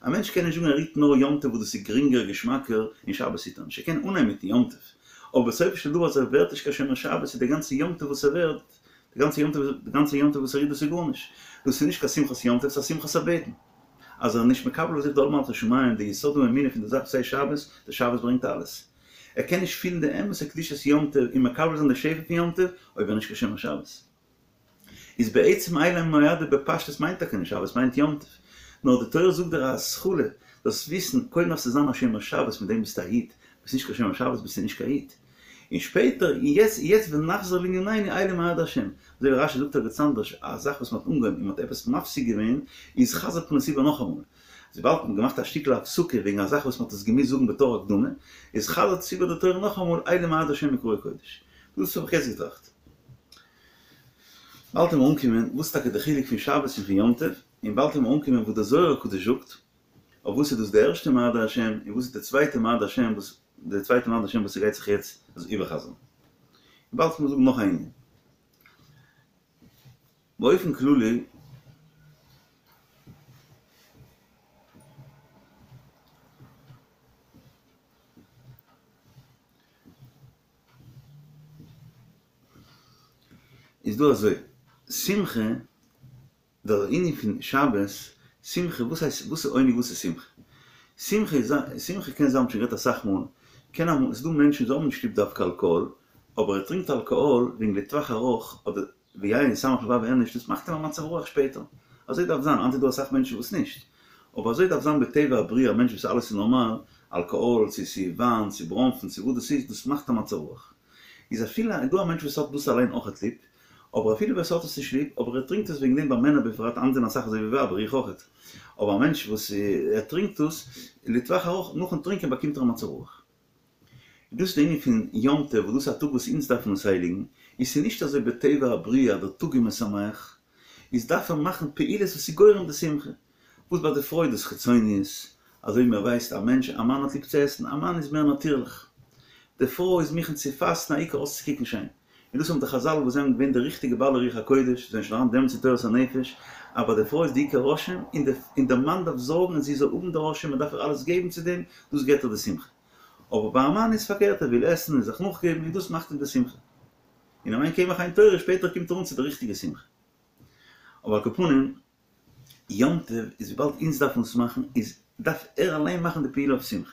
א מענטש קען נישט זאגן ער היט נאר יום טוב וואס דאס איז גרינגער געשמאקער און שבת היט ער נישט. ער קען אנהייבן מיטן יום טוב, אבער בסופו של דבר אז ער ווערט נישט קיין שומר שבת איז די גאנצע יום טוב וואס ער ווערט, די גאנצע יום טוב, די גאנצע יום טוב וואס ער היט דאס איז גארנישט. דאס איז נישט קיין שמחת יום טוב, ס'איז א שמחת הבטן. אז ער איז נישט מקבל אויף זיך די עול מלכות שמים, די יסוד האמונה פון די זאך וואס הייסט שבת, די שבת ברענגט אלעס. ער קען נישט פילן די אמת'ע קדושת יום טוב און מקבל זיין די שפע פון יום טוב אויב ער איז נישט קיין שומר שבת. איז בעצם אלה המועדים בפשטות מיינט טאקע נישט שבת מיינט יום טוב. נאר די תורה זאגט דיר א התחלה, זאלסט וויסן, קודם דארפסטו זיין א שומר שבת מיט דעם ביסטו א איד, ביסט נישט קיין שומר שבת ביסטו נישט קיין איד. און שפעטער, און יעצט, יעצט ונחזור לענינינו אלה מועדי השם. אזוי ווי רש"י זאגט ערגעץ אנדערש, א זאך וואס מען האט אנגעהויבן און מען האט עפעס מפסיק געווען, איז חזר'ט מען עס איבער נאכאמאל. וויבאלד מען האט געמאכט א שטיקל הפסקה וועגן א זאך וואס מען האט עס געמוזט זאגן בתור הקדמה, איז חזר'ט עס איבער די תורה נאכאמאל אלה מועדי השם מקראי קודש. דאס האב איך יעצט געטראכט. באלד וועט מען אנקומען וואס איז טאקע די חילוק פון שבת און פון יום טוב, און באלד וועט מען אנקומען וואס דער זוהר הקדוש זאגט, אויף וואס איז דאס די ערשטע מועדי השם און וואס איז די צווייטע מועדי השם וואס די צווייטע מועדי השם וואס ס'גייט זיך יעצט איבערחזר'ן. און באלד וועט מען זאגן נאך א ענין. באופן כללי איז דא אזוי, שמחה דער ענין פון שבת, שמחה, וואס הייסט, וואס איז עונג, וואס איז שמחה? שמחה איז, שמחה קען זיין, מ'האט שוין גערעדט אסאך מאל, קען אמאל, ס'איז דא מענטשן וואס האבן נישט ליב דווקא אלקאהאל, אבער ער טרינקט אלקאהאל וועגן לטווח ארוך, אדער ויין ישמח לבב אנוש, דאס מאכט אים א מצב רוח שפעטער. אזוי דארף זיין, היינט איז דא אסאך מענטשן וואס נישט. אבער אזוי דארף זיין בטבע הבריאה, א מענטש וואס אלעס איז נארמאל, אלקאהאל, צו ס'איז וויין, צו בראנפן, צו וואס דאס איז, דאס מאכט א מצב רוח. איז אפילו איז דא א מענטש וואס האט דאס אליין אויכעט ליב, אבער אפילו ווער ס'האט עס נישט ליב, אבער ער טרינקט עס וועגן דעם ביי מענער בפרט, היינט זענען אסאך אזוי ווי ווייבער, איך אויכעט. אבער א מענטש וואס ער טרינקט עס, לטווח ארוך, נאכן טרינקען באקומט ער א מצב רוח. דאס איז די ענין פון יום טוב, וואס דאס איז א טאג וואס אונז דארפן עס הייליגן, און ס'איז נישט אזוי בטבע הבריאה אז דער טאג איז משמח, איז דארף ער מאכן פעולות וואס איז גורם די שמחה. וואס ביי די פרוי איז דאס חיצוניות, אזוי ווי מען ווייסט א מענטש, א מאן האט ליב צו עסן, א מאן איז מער נאטירליך, די פרוי איז מוכן צו פאסטן העיקר אויסצוקוקן שיין, און דאס האבן די חזל וואס זענען געווען די ריכטיגע בעלי רוח הקודש, זענען שוין אריין דעמאלטס אין תורת הנפש, אז ביי די פרוי איז די עיקר רושם, און די און די מאן דארף זארגן אז זי זאל האבן די רושם, מען דארף איר אלעס געבן צו דעם, דאס געבט איר די שמחה. אבער ביי א מאן איז פארקערט, ער וויל עסן און זיך נאכגעבן און דאס מאכט אים די שמחה. און אם אין קמח אין תורה, שפעטער קומט ער אן צו די ריכטיגע שמחה. אבער על כל פנים, יום טוב איז וויבאלד אונז דארפן עס מאכן, איז דארף ער אליין מאכן די פעולה אויף שמחה.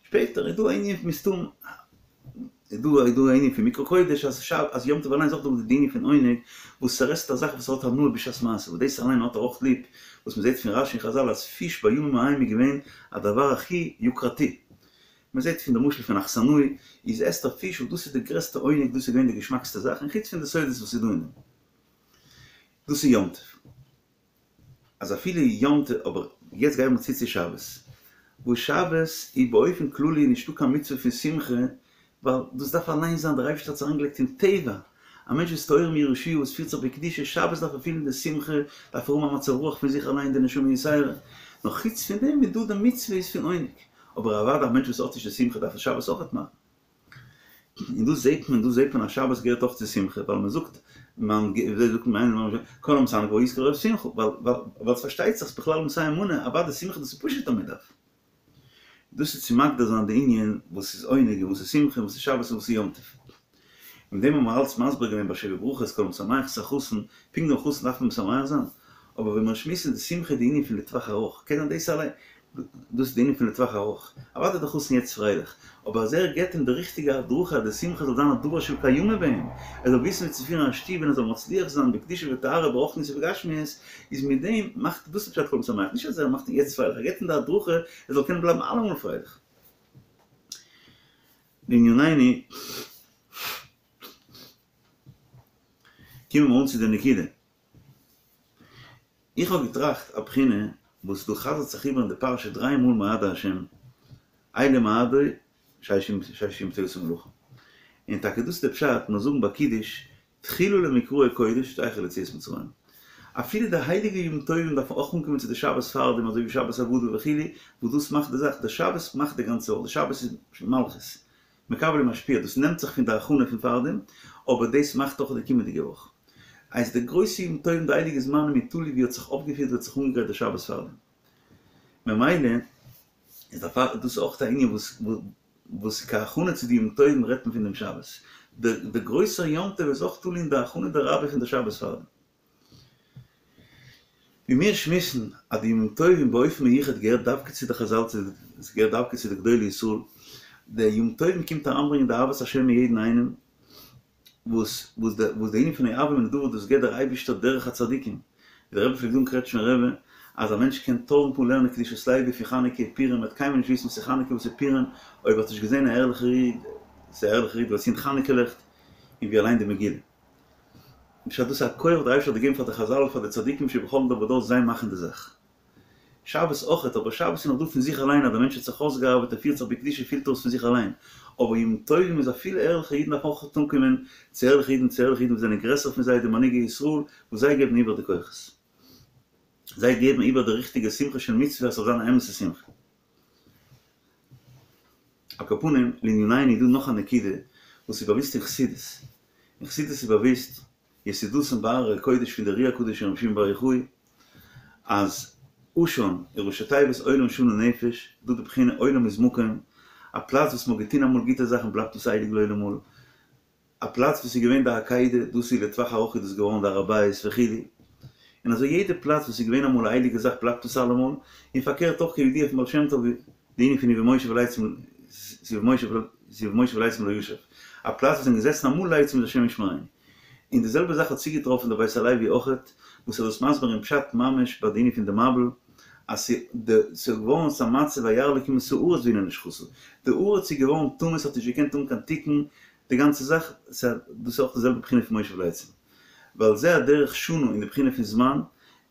שפעטער איז דא א ענין מסתם איז דא איז דא א ענין פון מקרא קודש אז שב אז יום טוב אליין איז אויך דא די ענין פון עונג וואס ער עסט א זאך וואס ער האט הנאה בשעת מעשה וואס דאס אליין האט ער אויך ליב וואס מ'זעט פון רשי און חזל אז פיש בימים ההם איז געווען א דבר הכי יוקרתי מ'זעט פון די משל פון אכסנאי איז עסט ער פיש וואס דאס איז די גרעסטע עונג דאס איז געווען די געשמאקסטע זאך און חוץ פון די סודות וואס איז דא אין דעם דאס איז יום טוב. אז אפילו יום טוב, אבער יעצט גייען מיר צו צו שבת, וואס שבת איז באופן כללי נישטא קיין מצוה פון שמחה, ווייל דאס דארף אליין זיין, דער אייבערשטער האט עס אריינגעלייגט אין טבע, א מענטש וואס טהור מירושה וואס פירט זיך בקדושה, שבת דארף ער פילן די שמחה, דארף ער האבן א מצב רוח פון זיך אליין, די נשמה יתירה, נאר חוץ פון דעם איז דא די מצוה איז פון עונג, אבער אוודאי א מענטש וואס האט נישט די שמחה דארף ער שבת אויכעט מאכן. און דא זעט מען, דא זעט מען אז שבת געהערט אויך צו שמחה, ווייל מען זאגט, מען זאגט מען כל המשמח בו יזכה לרוב שמחה, ווייל ווייל ס'פארשטייט זיך ס'בכלל נושא אמונה, אוודאי שמחה דאס איז פשוט אז מען דארף. דאס איז צו מגדיר זיין די ענין וואס איז עונג און וואס איז שמחה און וואס איז שבת און וואס איז יום טוב. מיט דעם האבן מיר אלץ מסביר געווען ביי שבע ברכות כל המשמח את החתן, פונקט דעם חתן דארף מען משמח זיין, אבער ווען מיר שמועסן די שמחה איז די ענין פון לטווח ארוך, קען זיין דאס אליין, דאס איז די ענין פון לטווח ארוך, אוודאי איז דער חתן יעצט פרייליך, אבער אז ער געבט אים די ריכטיגע הדרכה אז די שמחה זאל זיין א דבר של קיימא ביי אים, ער זאל וויסן ווי צו פירן א שטוב און ער זאל מצליח זיין בקדושה וטהרה ברוחניות ובגשמיות, איז מיט דעם מאכט דאס איז פשט כל המשמח, נישט אז ער מאכט אים יעצט פרייליך, ער געבט אים די הדרכה ער זאל קענען בלייבן אלעמאל פרייליך. לענינינו, קומען מיר אן צו די נקודה. איך האב געטראכט א בחינה וואס דא חזר'ט זיך איבער אין די פרשה דריי מאל מועדי השם, אלה מועדי ששת ימים תעשה מלאכה. און טאקע דאס איז די פשט, מיר זאגן ביי קידוש, תחילה למקראי קודש זכר ליציאת מצרים. אפילו די הייליגע ימים טובים דארפן אויך אנקומען צו די שבת פארדעם אזוי ווי שבת הגדול וכו', וואס דאס מאכט די זאך, די שבת מאכט די גאנצע וואך, די שבת איז מלכות, מקבל ומשפיע, דאס נעמט זיך פון די הכנה פון פארדעם, אבער דאס מאכט אויך די קומענדיגע וואך. הייסט די גרויסע ימים טובים די הייליגע זמנים איז תלוי ווי האט זיך אויפגעפירט ווי האט זיך אנגעגרייט די שבת פארדעם. ממילא איז דערפאר דאס אויך א ענין וואס וואס כהכנה צו די ימים טובים רעדט מען פון דעם שבת. דער גרויסער יום טוב איז אויך תלוי אין די הכנה דרבה פון די שבת פארדעם. ווי מיר שמועסן אז די ימים טובים באופן מיוחד געהערט דווקא צו די חזל עס געהערט דווקא צו די גדולי ישראל, די ימים טובים קומט אריינברענגען די אהבת השם אין יעדן איינעם, וואס וואס די וואס די ענין פון אוהבו ונדבה דאס געבט דער אייבישטער דורך הצדיקים, ווי דער רבי פלעגט זאגן קרעטשניפער רבי, אז א מענטש קען טויזנט מאל לערנען קדושת לוי פון חנוכה פורים ער וועט קיינמאל נישט וויסן וואס איז חנוכה וואס איז פורים אויב ער האט נישט געזען א ערליכער איד, ס'איז א ערליכער איד וואס צינדט חנוכה לעכט און ווי ער ליינט די מגילה. פשט דאס איז א כח דער אייבערשטער האט געגעבן פאר די חזל פאר די צדיקים שבכל דור ודור זיי מאכן די זאך. שבת אויכעט, אבער שבת איז נאך דא פון זיך אליין אז דער מענטש האט זיך אויסגעארבעט ער פירט זיך בקדושה פילט ער עס פון זיך אליין, אבער ימים טובים איז אפילו ערליכע אידן דארפן אויך אנקומען צו ערליכע אידן צו ערליכע אידן וואס זענען גרעסער פון זיי די מנהיגי ישראל וואס זיי געבן איבער די כוחות זיי געבן איבער די ריכטיגע שמחה של מצוה אז ס'זאל זיין א אמת'ע שמחה. על כל פנים, לענינינו איז דא נאך א נקודה וואס איז באוואוסט אין חסידות. אין חסידות איז באוואוסט יסודתן בהררי הקודש פון די אר"י הקדוש און רבי שמעון בר יוחאי, אז עשן איז ראשי תיבות עולם שנה נפש, דא די בחינה עולם איז מקום, א פלאץ וואס מ'האט געטון אמאל גוטע זאכן בלייבט עס אייביג לעולם אל, א פלאץ וואס איז געווען די עקידה, דאס איז לטווח ארוך איז דאס געווארן די הר הבית וכו', און אזוי יעדע פלאץ וואס איז געווען אמאל א הייליגע זאך בלייבט עס אלעמאל, און פארקערט אויך כידוע פון בעל שם טוב די ענין פון ובמושב לצים ובמושב לצים לא ישב, א פלאץ וואס זענען געזעסן אמאל לצים איז השם ישמרינו. און די זעלבע זאך האט צוגעטראפן די בית הלוי אויכעט, וואס ער איז דאס מסביר אין פשט ממש ביי די ענין פון די מבול, אז ס'איז געווארן אזא מצב וירא אלקים את הארץ והנה נשחתה, די הארץ איז געווארן טמא ס'האט נישט געקענט האבן קיין תיקון, די גאנצע זאך, דאס איז אויך די זעלבע בחינה פון מושב לצים. ועל זה הדרך שנה אין די בחינה פון זמן,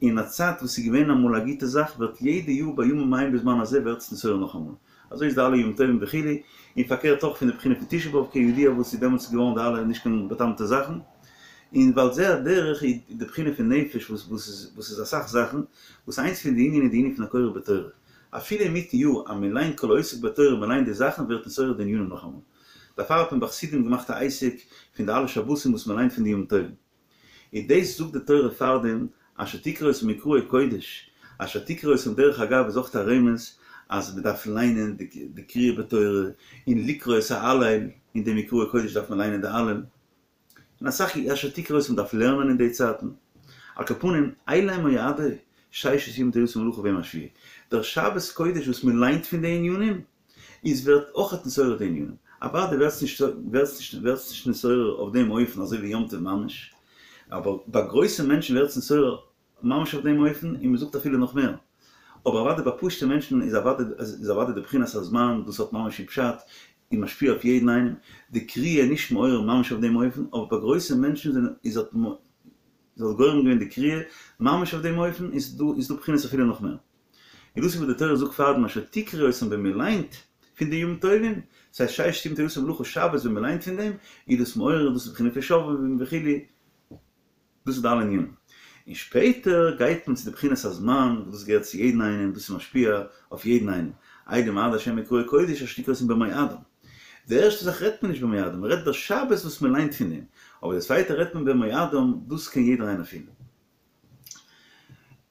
אין א צייט וואס איז געווען אמאל א גוטע זאך ווערט יעדע יאר בימים ההם בזמן הזה ווערט עס נתעורר נאכאמאל. אזוי איז די אלע ימים טובים וכו', און פארקערט אויך פון די בחינה פון תשעה באב כידוע וואס איז דעמאלטס געווארן די אלע נישט קיין בא'טעמ'טע זאכן. און ועל זה הדרך איז די בחינה פון נפש וואס וואס איז אסאך זאכן, וואס איינס פון די ענינים איז די ענין פון הקורא בתורה. אפילו אינמיטן יאר אז מען ליינט כל העוסק בתורה מען ליינט די זאכן ווערט נתעורר די ענינים נאכאמאל. דערפאר האט מען ביי חסידים געמאכט א עסק פון די אלע שבתים וואס מען ליינט פון די ימים טובים. און דאס זאגט די תורה פארדעם, אשר תקראו אותם מקראי קודש, אשר תקראו אותם דרך אגב איז אויך א רמז אז מען דארף ליינען די קריאה בתורה, און לקרוא את ההלל, אין די מקראי קודש דארף מען ליינען די הלל. און אסאך אשר תקראו אותם מ'דארף לערנען אין די צייטן. על כל פנים, אלה מועדי, ששת ימים תעשה מלאכה וביום השביעי. דער שבת קודש וואס מען ליינט פון די ענינים, איז ווערט אויכעט נתעורר די ענינים. אוודאי ווערט עס נישט ווערט עס נישט ווערט עס נישט נתעורר אויף דעם אופן אזוי ווי יום טוב ממש, אבער ביי גרויסע מענטשן ווערט עס נתעורר ממש אויף דעם אופן, און מען זאגט אפילו נאך מער. אבער אוודאי ביי פשוטע מענטשן איז אוודאי איז אוודאי די בחינת הזמן, דאס האט ממש אין פשט, און משפיע אויף יעדן איינעם. די קריאה איז נישט מעורר ממש אויף דעם אופן, אבער ביי גרויסע מענטשן זענען איז האט איז האט גורם געווען די קריאה ממש אויף דעם אופן, איז דא איז דא בחינות אפילו נאך מער. און דאס איז וואס די תורה זאגט פארדעם אשר תקראו אותם ווען מען ליינט פון די ימים טובים, ס'הייסט ששת ימים תעשה מלאכה שבת ווען מען ליינט פון דעם, איז דאס מעורר דאס איז בחינה פון שובבים וכו', דאס איז די אלע ענינים. און שפעטער גייט מען צו די בחינת הזמן, וואס דאס געהערט צו יעדן איינעם, דאס איז משפיע אויף יעדן איינעם, אלה מועדי השם מקראי קודש אשר תקראו אותם במועדם. די ערשטע זאך רעדט מען נישט במועדם, מען רעדט דער שבת וואס מען ליינט פון דעם, אבער די צווייטע רעדט מען במועדם, דאס קען יעדער איינער פילן.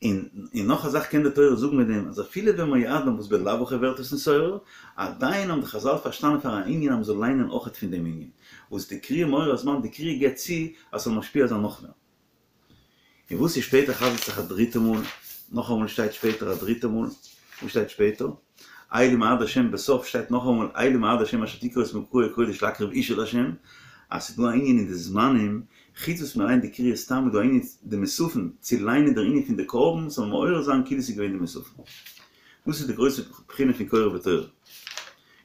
און און נאך א זאך קען די תורה זאגן מיט דעם, אז אפילו במועדם וואס בלאו הכי ווערט עס נתעורר, עדיין האבן די חזל פארשטאנען פאר א ענין אז מען זאל ליינען אויכעט פון דעם ענין, וואס די קריאה מעורר הזמן, די קריאה גיבט צו אז ס'זאל משפיע זיין נאך מער. און וואס איז שפעטער חזר'ט זיך א דריטע מאל, נאכאמאל שטייט שפעטער א דריטע מאל, וואס שטייט שפעטער? אלה מועדי השם בסוף שטייט נאכאמאל אלה מועדי השם אשר תקראו את מקראי קודש להקריב אשה להשם, אז ס'איז דא א ענין אין די זמנים, חוץ וואס מ'ליינט די קריאה סתם איז דא א ענין די מוספין צו ליינען דער ענין פון די קרבן ס'זאל מעורר זיין כאילו ס'איז געווען די מוספין. דאס איז די גרויסע בחינה פון קורא בתורה.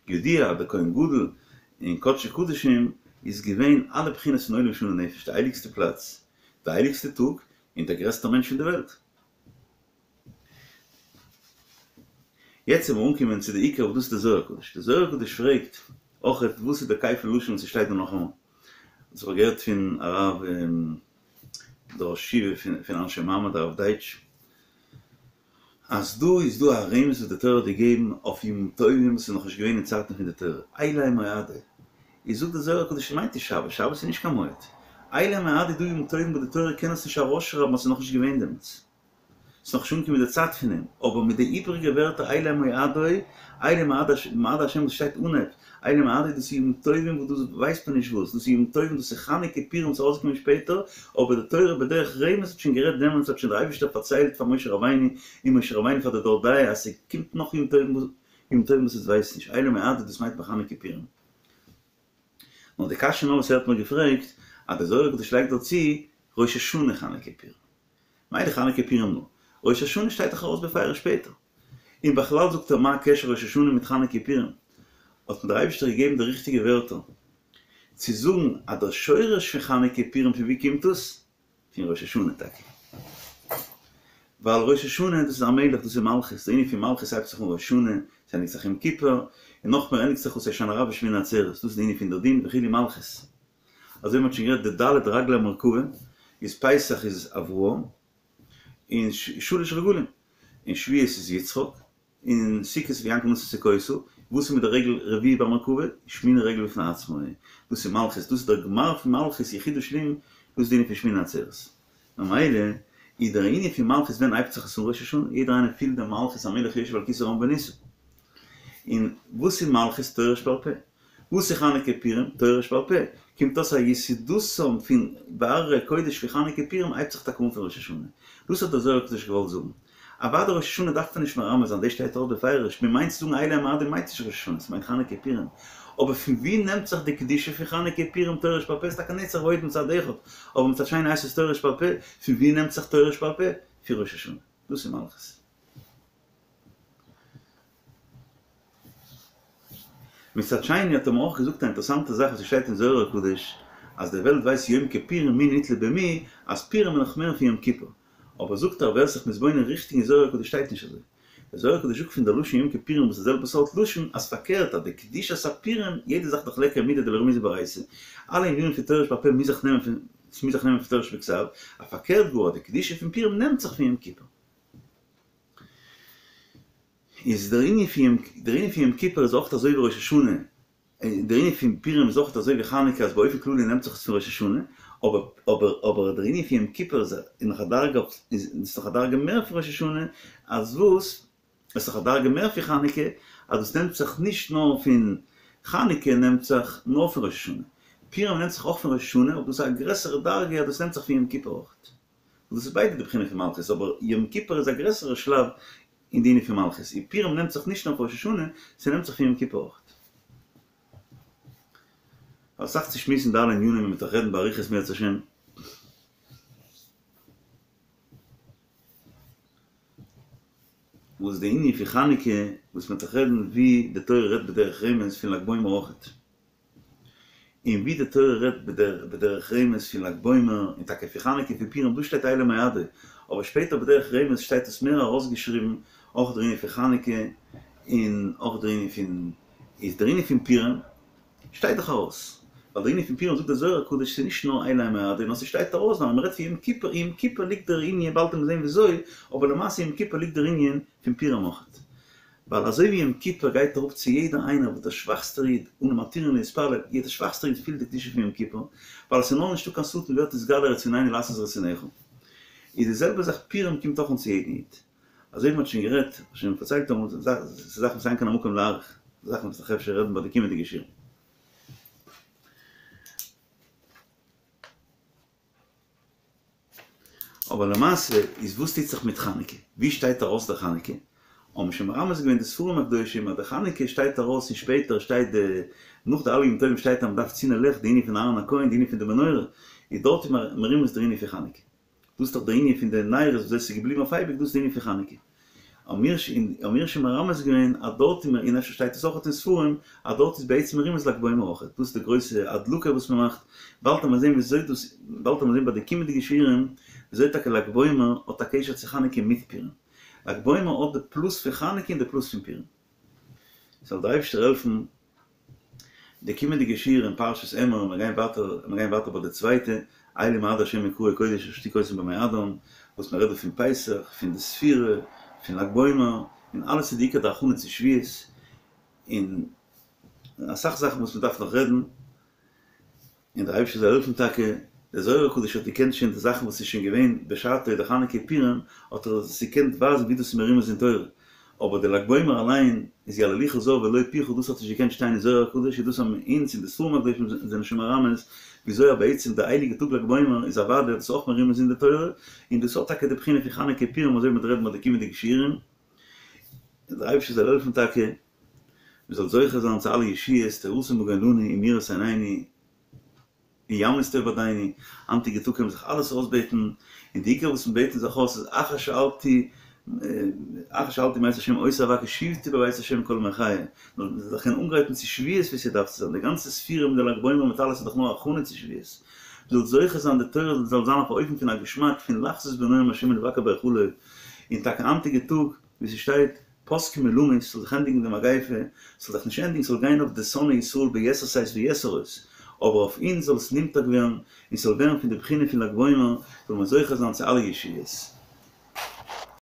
ידוע אז דער כהן גדול אין קדשי קדשים איז געווען אלע בחינות פון עולם שנה נפש, די הייליגסטע פלאץ, די הייליגסטע טאג, און דער גרעסטער מענטש פון די וועלט. יעצט וועלן מיר אנקומען צו די עיקר וואס דאס איז די זוהר הקדוש. די זוהר הקדוש פרעגט אויכעט וואס איז די כפל לשון וואס ס'שטייט דא נאכאמאל. דאס האב איך געהערט פון הרב דער ראש ישיבה פון אנשי מעמד הרב דייטש. אז דא איז דא א רמז וואס די תורה האט געגעבן אויף ימים טובים וואס איז נאכנישט געווען אין צייטן פון די תורה, אלה המועדים, איז זאגט די זוהר הקדוש ס'מיינט נישט שבת, שבת איז נישט קיין מועד, אלה המועדים איז דא ימים טובים וואס די תורה קען עס נישט ארויסשרייבן אז ס'איז נאכנישט געווען דעמאלטס, ס'איז נאכנישט אנגעקומען די צייט פון דעם, אבער מיט די איבריגע ווערטער אלה המועדים, אלה מועדי השם וואס שטייט אנהייב, אלה מועדי דאס איז ימים טובים וואס דאס ווייסט מען נישט וואס, דאס איז ימים טובים דאס איז חנוכה פורים וואס איז ארויסגעקומען שפעטער, אבער די תורה בדרך רמז האט שוין גערעדט דעמאלטס האט שוין דער אייבערשטער פארציילט פאר משה רבינו און משה רבינו פאר די דור דעה אז ס'קומט נאך ימים טובים ימים טובים וואס עס ווייסט נישט אלה מועדי דאס מיינט מען חנוכה פורים. נאר די קשיא נאר וואס ער האט מיר געפרעגט אז דער זוהר הקדוש לייגט דא צו ראש השנה חנוכה פורים. מילא חנוכה פורים נאר ראש השנה שטייט דאך ארויס בפירוש שפעטער. און בכלל זאגט ער מה הקשר ראש השנה מיט חנוכה פורים? האט מיר דער אייבערשטער געגעבן די ריכטיגע ווערטער צו זאגן אז דער שורש פון חנוכה פורים פון ווי קומט עס? פון ראש השנה טאקע. ווייל ראש השנה דאס איז א מלך דאס איז מלכות, די ענין פון מלכות הייבט זיך אן ראש השנה, עס ענדיגט זיך יום כיפור, און נאכמער ענדיגט זיך אויס הושענא רבה שמיני עצרת, דאס איז די ענין פון דער דין וכו' מלכות. אזוי ווי מען האט שוין גערעדט די ד' רגלי המרכבה איז פסח איז אברהם, און שלש רגלים, און שבועות איז יצחק, און סוכות איז ויענקל נשא סוכותה, וואס איז מיט די רגל רביעי ביי מרכבה? שמיני רגל בפני עצמו, דאס איז מלכות, דאס איז דער גמר פון מלכות יחידה שלימה, דאס איז די ענין פון שמיני עצרת. ממילא איז דער ענין פון מלכות ווען הייבט זיך עס אן ראש השנה, יעדער איינער פילט די מלכות המלך יושב על כסא רם ונישא. און וואס איז מלכות? תורה שבעל פה. וואס איז חנוכה פורים? תורה שבעל פה. קומט אויס אז יסודתם פון בהררי קודש פון חנוכה פורים הייבט זיך טאקע אן פון ראש השנה. דאס האט דער זוהר הקדוש געוואלט זאגן. אוודאי ראש השנה דארף מען נישט מרמז זיין, דאס שטייט אויך בפירוש, מען מיינט צו זאגן אלה המועדים מיינט נישט ראש השנה, ס'מיינט חנוכה פורים. אבער פון וואו נעמט זיך די קדושה פון חנוכה פורים תורה שבעל פה? איז טאקע נצח והוד מצד אחד, אבער מצד שני הייסט עס תורה שבעל פה, פון וואו נעמט זיך תורה שבעל פה? פון ראש השנה. דאס איז מלכות. מצד שני האט ער מיר אויך געזאגט א אינטערעסאנטע זאך וואס ס'שטייט אין זוהר הקדוש אז די וועלט ווייסט יום כפורים מי נתלה במי אז פורים איז נאך מער פון יום כיפור אבער זאגט ער ווער ס'זיך מתבונן ריכטיג אין זוהר הקדוש שטייט נישט אזוי דער זוהר הקדוש זאגט פון דער לשון יום כפורים וואס איז די זעלבע סארט לשון אז פארקערט אז די קדושת הפורים יעדע זאך דאך ליכא מידי דלא רמיזא באורייתא אלע ענינים פון תורה שבעל פה מוז זיך נעמען פון ס'מוז זיך נעמען פון תורה שבכתב אז פארקערט גאר אז די קדושה פון פורים נעמט זיך פון יום כיפור. איז דער ענין פון יום דער ענין פון יום כיפור איז אויך אזוי ווי ראש השנה, דער ענין פון פורים איז אויך אזוי ווי חנוכה אז באופן כללי נעמט זיך עס פון ראש השנה, אבער אבער אבער דער ענין פון יום כיפור איז נאך א דרגה איז נאך א דרגה מער פון ראש השנה, אז וואס? עס איז נאך א דרגה מער פון חנוכה, אז דאס נעמט זיך נישט נאר פון חנוכה נעמט זיך נאר פון ראש השנה, פורים נעמט זיך אויך פון ראש השנה אבער דאס איז א גרעסערע דרגה אז דאס נעמט זיך פון יום כיפור אויך. דאס איז ביידע די בחינה פון מלכות, אבער יום כיפור איז א גרעסערע שלב אין די ענין פון מלכות, און פורים נעמט זיך נישט נאר פון ראש השנה, ס'נעמט זיך פון יום כיפור אויך. אסאך צו שמועסן די אלע ענינים און מ'וועט נאך רעדן באריכות אם ירצה השם. וואס די ענין פון חנוכה, וואס מ'וועט נאך רעדן ווי די תורה רעדט בדרך רמז פון ל"ג בעומר אויכעט. און ווי די תורה רעדט בדרך רמז פון ל"ג בעומר, און טאקע פון חנוכה פון פורים, דא שטייט אלה מועדי, אבער שפעטער בדרך רמז שטייט עס מער ארויסגעשריבן אויך דער ענין פון חנוכה, און אויך דער ענין פון, איז דער ענין פון פורים שטייט דאך ארויס, ווייל דער ענין פון פורים זאגט דער זוהר הקדוש ס'איז נישט נאר אלה מועדי, נאר ס'שטייט ארויס ווייל מ'רעדט פון יום כיפור, אין יום כיפור ליגט דער ענין, באלד וועט מען זען וויאזוי, אבער למעשה יום כיפור ליגט דער ענין פון פורים אויכעט. ווייל אזוי ווי יום כיפור גייט אראפ צו יעדער איינער וואס דער שוואכסטער איד, אנו מתירין להתפלל, יעדער שוואכסטער איד פילט די קדושה פון יום כיפור, ווייל עס איז נאר נישטא קיין שטן ווערט נתגלה רצוננו לעשות רצונך. איז די זעלבע זאך פורים קומט אויך אן צו יעדן איד. אזוי ווי מען האט שוין גערעדט, שוין פארציילט אמאל, ס'איז זאכן וואס אין כאן המקום להאריך, זאכן וואס מ'דארף אפשר רעדן ביי די קומענדיגע שיעור. אבער למעשה איז וואס טוט זיך מיט חנוכה? ווי שטייט ארויס די חנוכה? האבן שוין מרמז געווען די ספרים הקדושים אז די חנוכה שטייט ארויס און שפעטער שטייט די נאך די אלע ימים טובים שטייט אז מ'דארף צינדן לעכט די ענין פון אהרן הכהן די ענין פון די מנורה איז דארט איז מרומז דער ענין פון חנוכה. דאס איז דאך דער ענין פון די נרות וויאזוי ס'איז געבליבן אויף אייביג דאס איז די ענין פון חנוכה. האמיר האמיר שוין מרמז געווען אז דארט איז און אפשר שטייט עס אויך אין ספרים אז דארט איז בעצם מרומז לג בעומר אויך, דאס איז די גרויסע הדלקה וואס מען מאכט, באלד וועט מען זען וויאזוי דאס, באלד וועט מען זען ביי די קומענדיגע שיעורים וויאזוי טאקע לג בעומר האט א קשר צו חנוכה מיט פורים. לג בעומר האט די פלוס פון חנוכה און די פלוס פון פורים. זאל דער אייבערשטער העלפן די קומענדיגע שיעור אין פרשת אמור, מיר גייען ווייטער, מיר גייען ווייטער ביי די צווייטע, אלה מועדי השם מקראי קודש אשר תקראו אותם במועדם, וואס מען רעדט דא פון פסח, פון די ספירה, פון לג בעומר, און אלעס איז די עיקר די הכנה צו שבועות, און אסאך זאכן וואס מען דארף נאך רעדן. און דער אייבערשטער זאל העלפן טאקע, דער זוהר הקדוש האט געקענט שוין די זאכן וואס איז שוין געווען בשעתו די חנוכה פורים, האט ער עס געקענט ווייזן ווי דאס איז מרומז אין תורה, אבער די לג בעומר אליין איז יהללוך זר ולא פיך דאס האט נישט געקענט שטיין אין זוהר הקדוש איז דאס האבן אונז און די ספרים הקדושים זענען שוין מרמז וויאזוי אז בעצם די הייליגע טאג לג בעומר איז אוודאי דאס אויך מרומז אין די תורה, און דאס האט טאקע די בחינה פון חנוכה פורים אזוי ווי מ'וועט רעדן ביי די קומענדיגע שיעורים, און דער אייבערשטער זאל העלפן טאקע. מען זאל זוכה זיין צו אלע ישועות, תורתו מגן לנו ומאירת עינינו, וימליץ טוב בעדנו, היינטיגע טאג קען מען זיך אלעס אויסבעטן, און די עיקר וואס מען בעט זיך אויס איז אחר שאלתי אחר שאלתי מאת השם אותה אבקש שבתי בבית השם כל ימי חיי, מען זאל זיך קענען אנגרייטן צו שבועות ווי ס'דארף צו זיין, די גאנצע ספירה מיט די ל"ג בעומר מיט אלעס איז דאך נאר הכנה צו שבועות, מען זאל זוכה זיין די תורה זאל זיין אויף א אופן פון א געשמאק פון לחזות בנועם השם ולבקר בהיכלו, און טאקע היינטיגע טאג ווי ס'שטייט פסקו מלמות, ס'זאל זיך ענדיגן די מגיפה, ס'זאל זיך נישט ענדיגן, ס'זאל גיין אויף די שונאי ישראל ביתר שאת ויתר עוז, אבער אויף אונז זאל עס נמתק ווערן, און ס'זאל ווערן פון די בחינה פון ל"ג בעומר, זאל מען זוכה זיין צו אלע ישועות.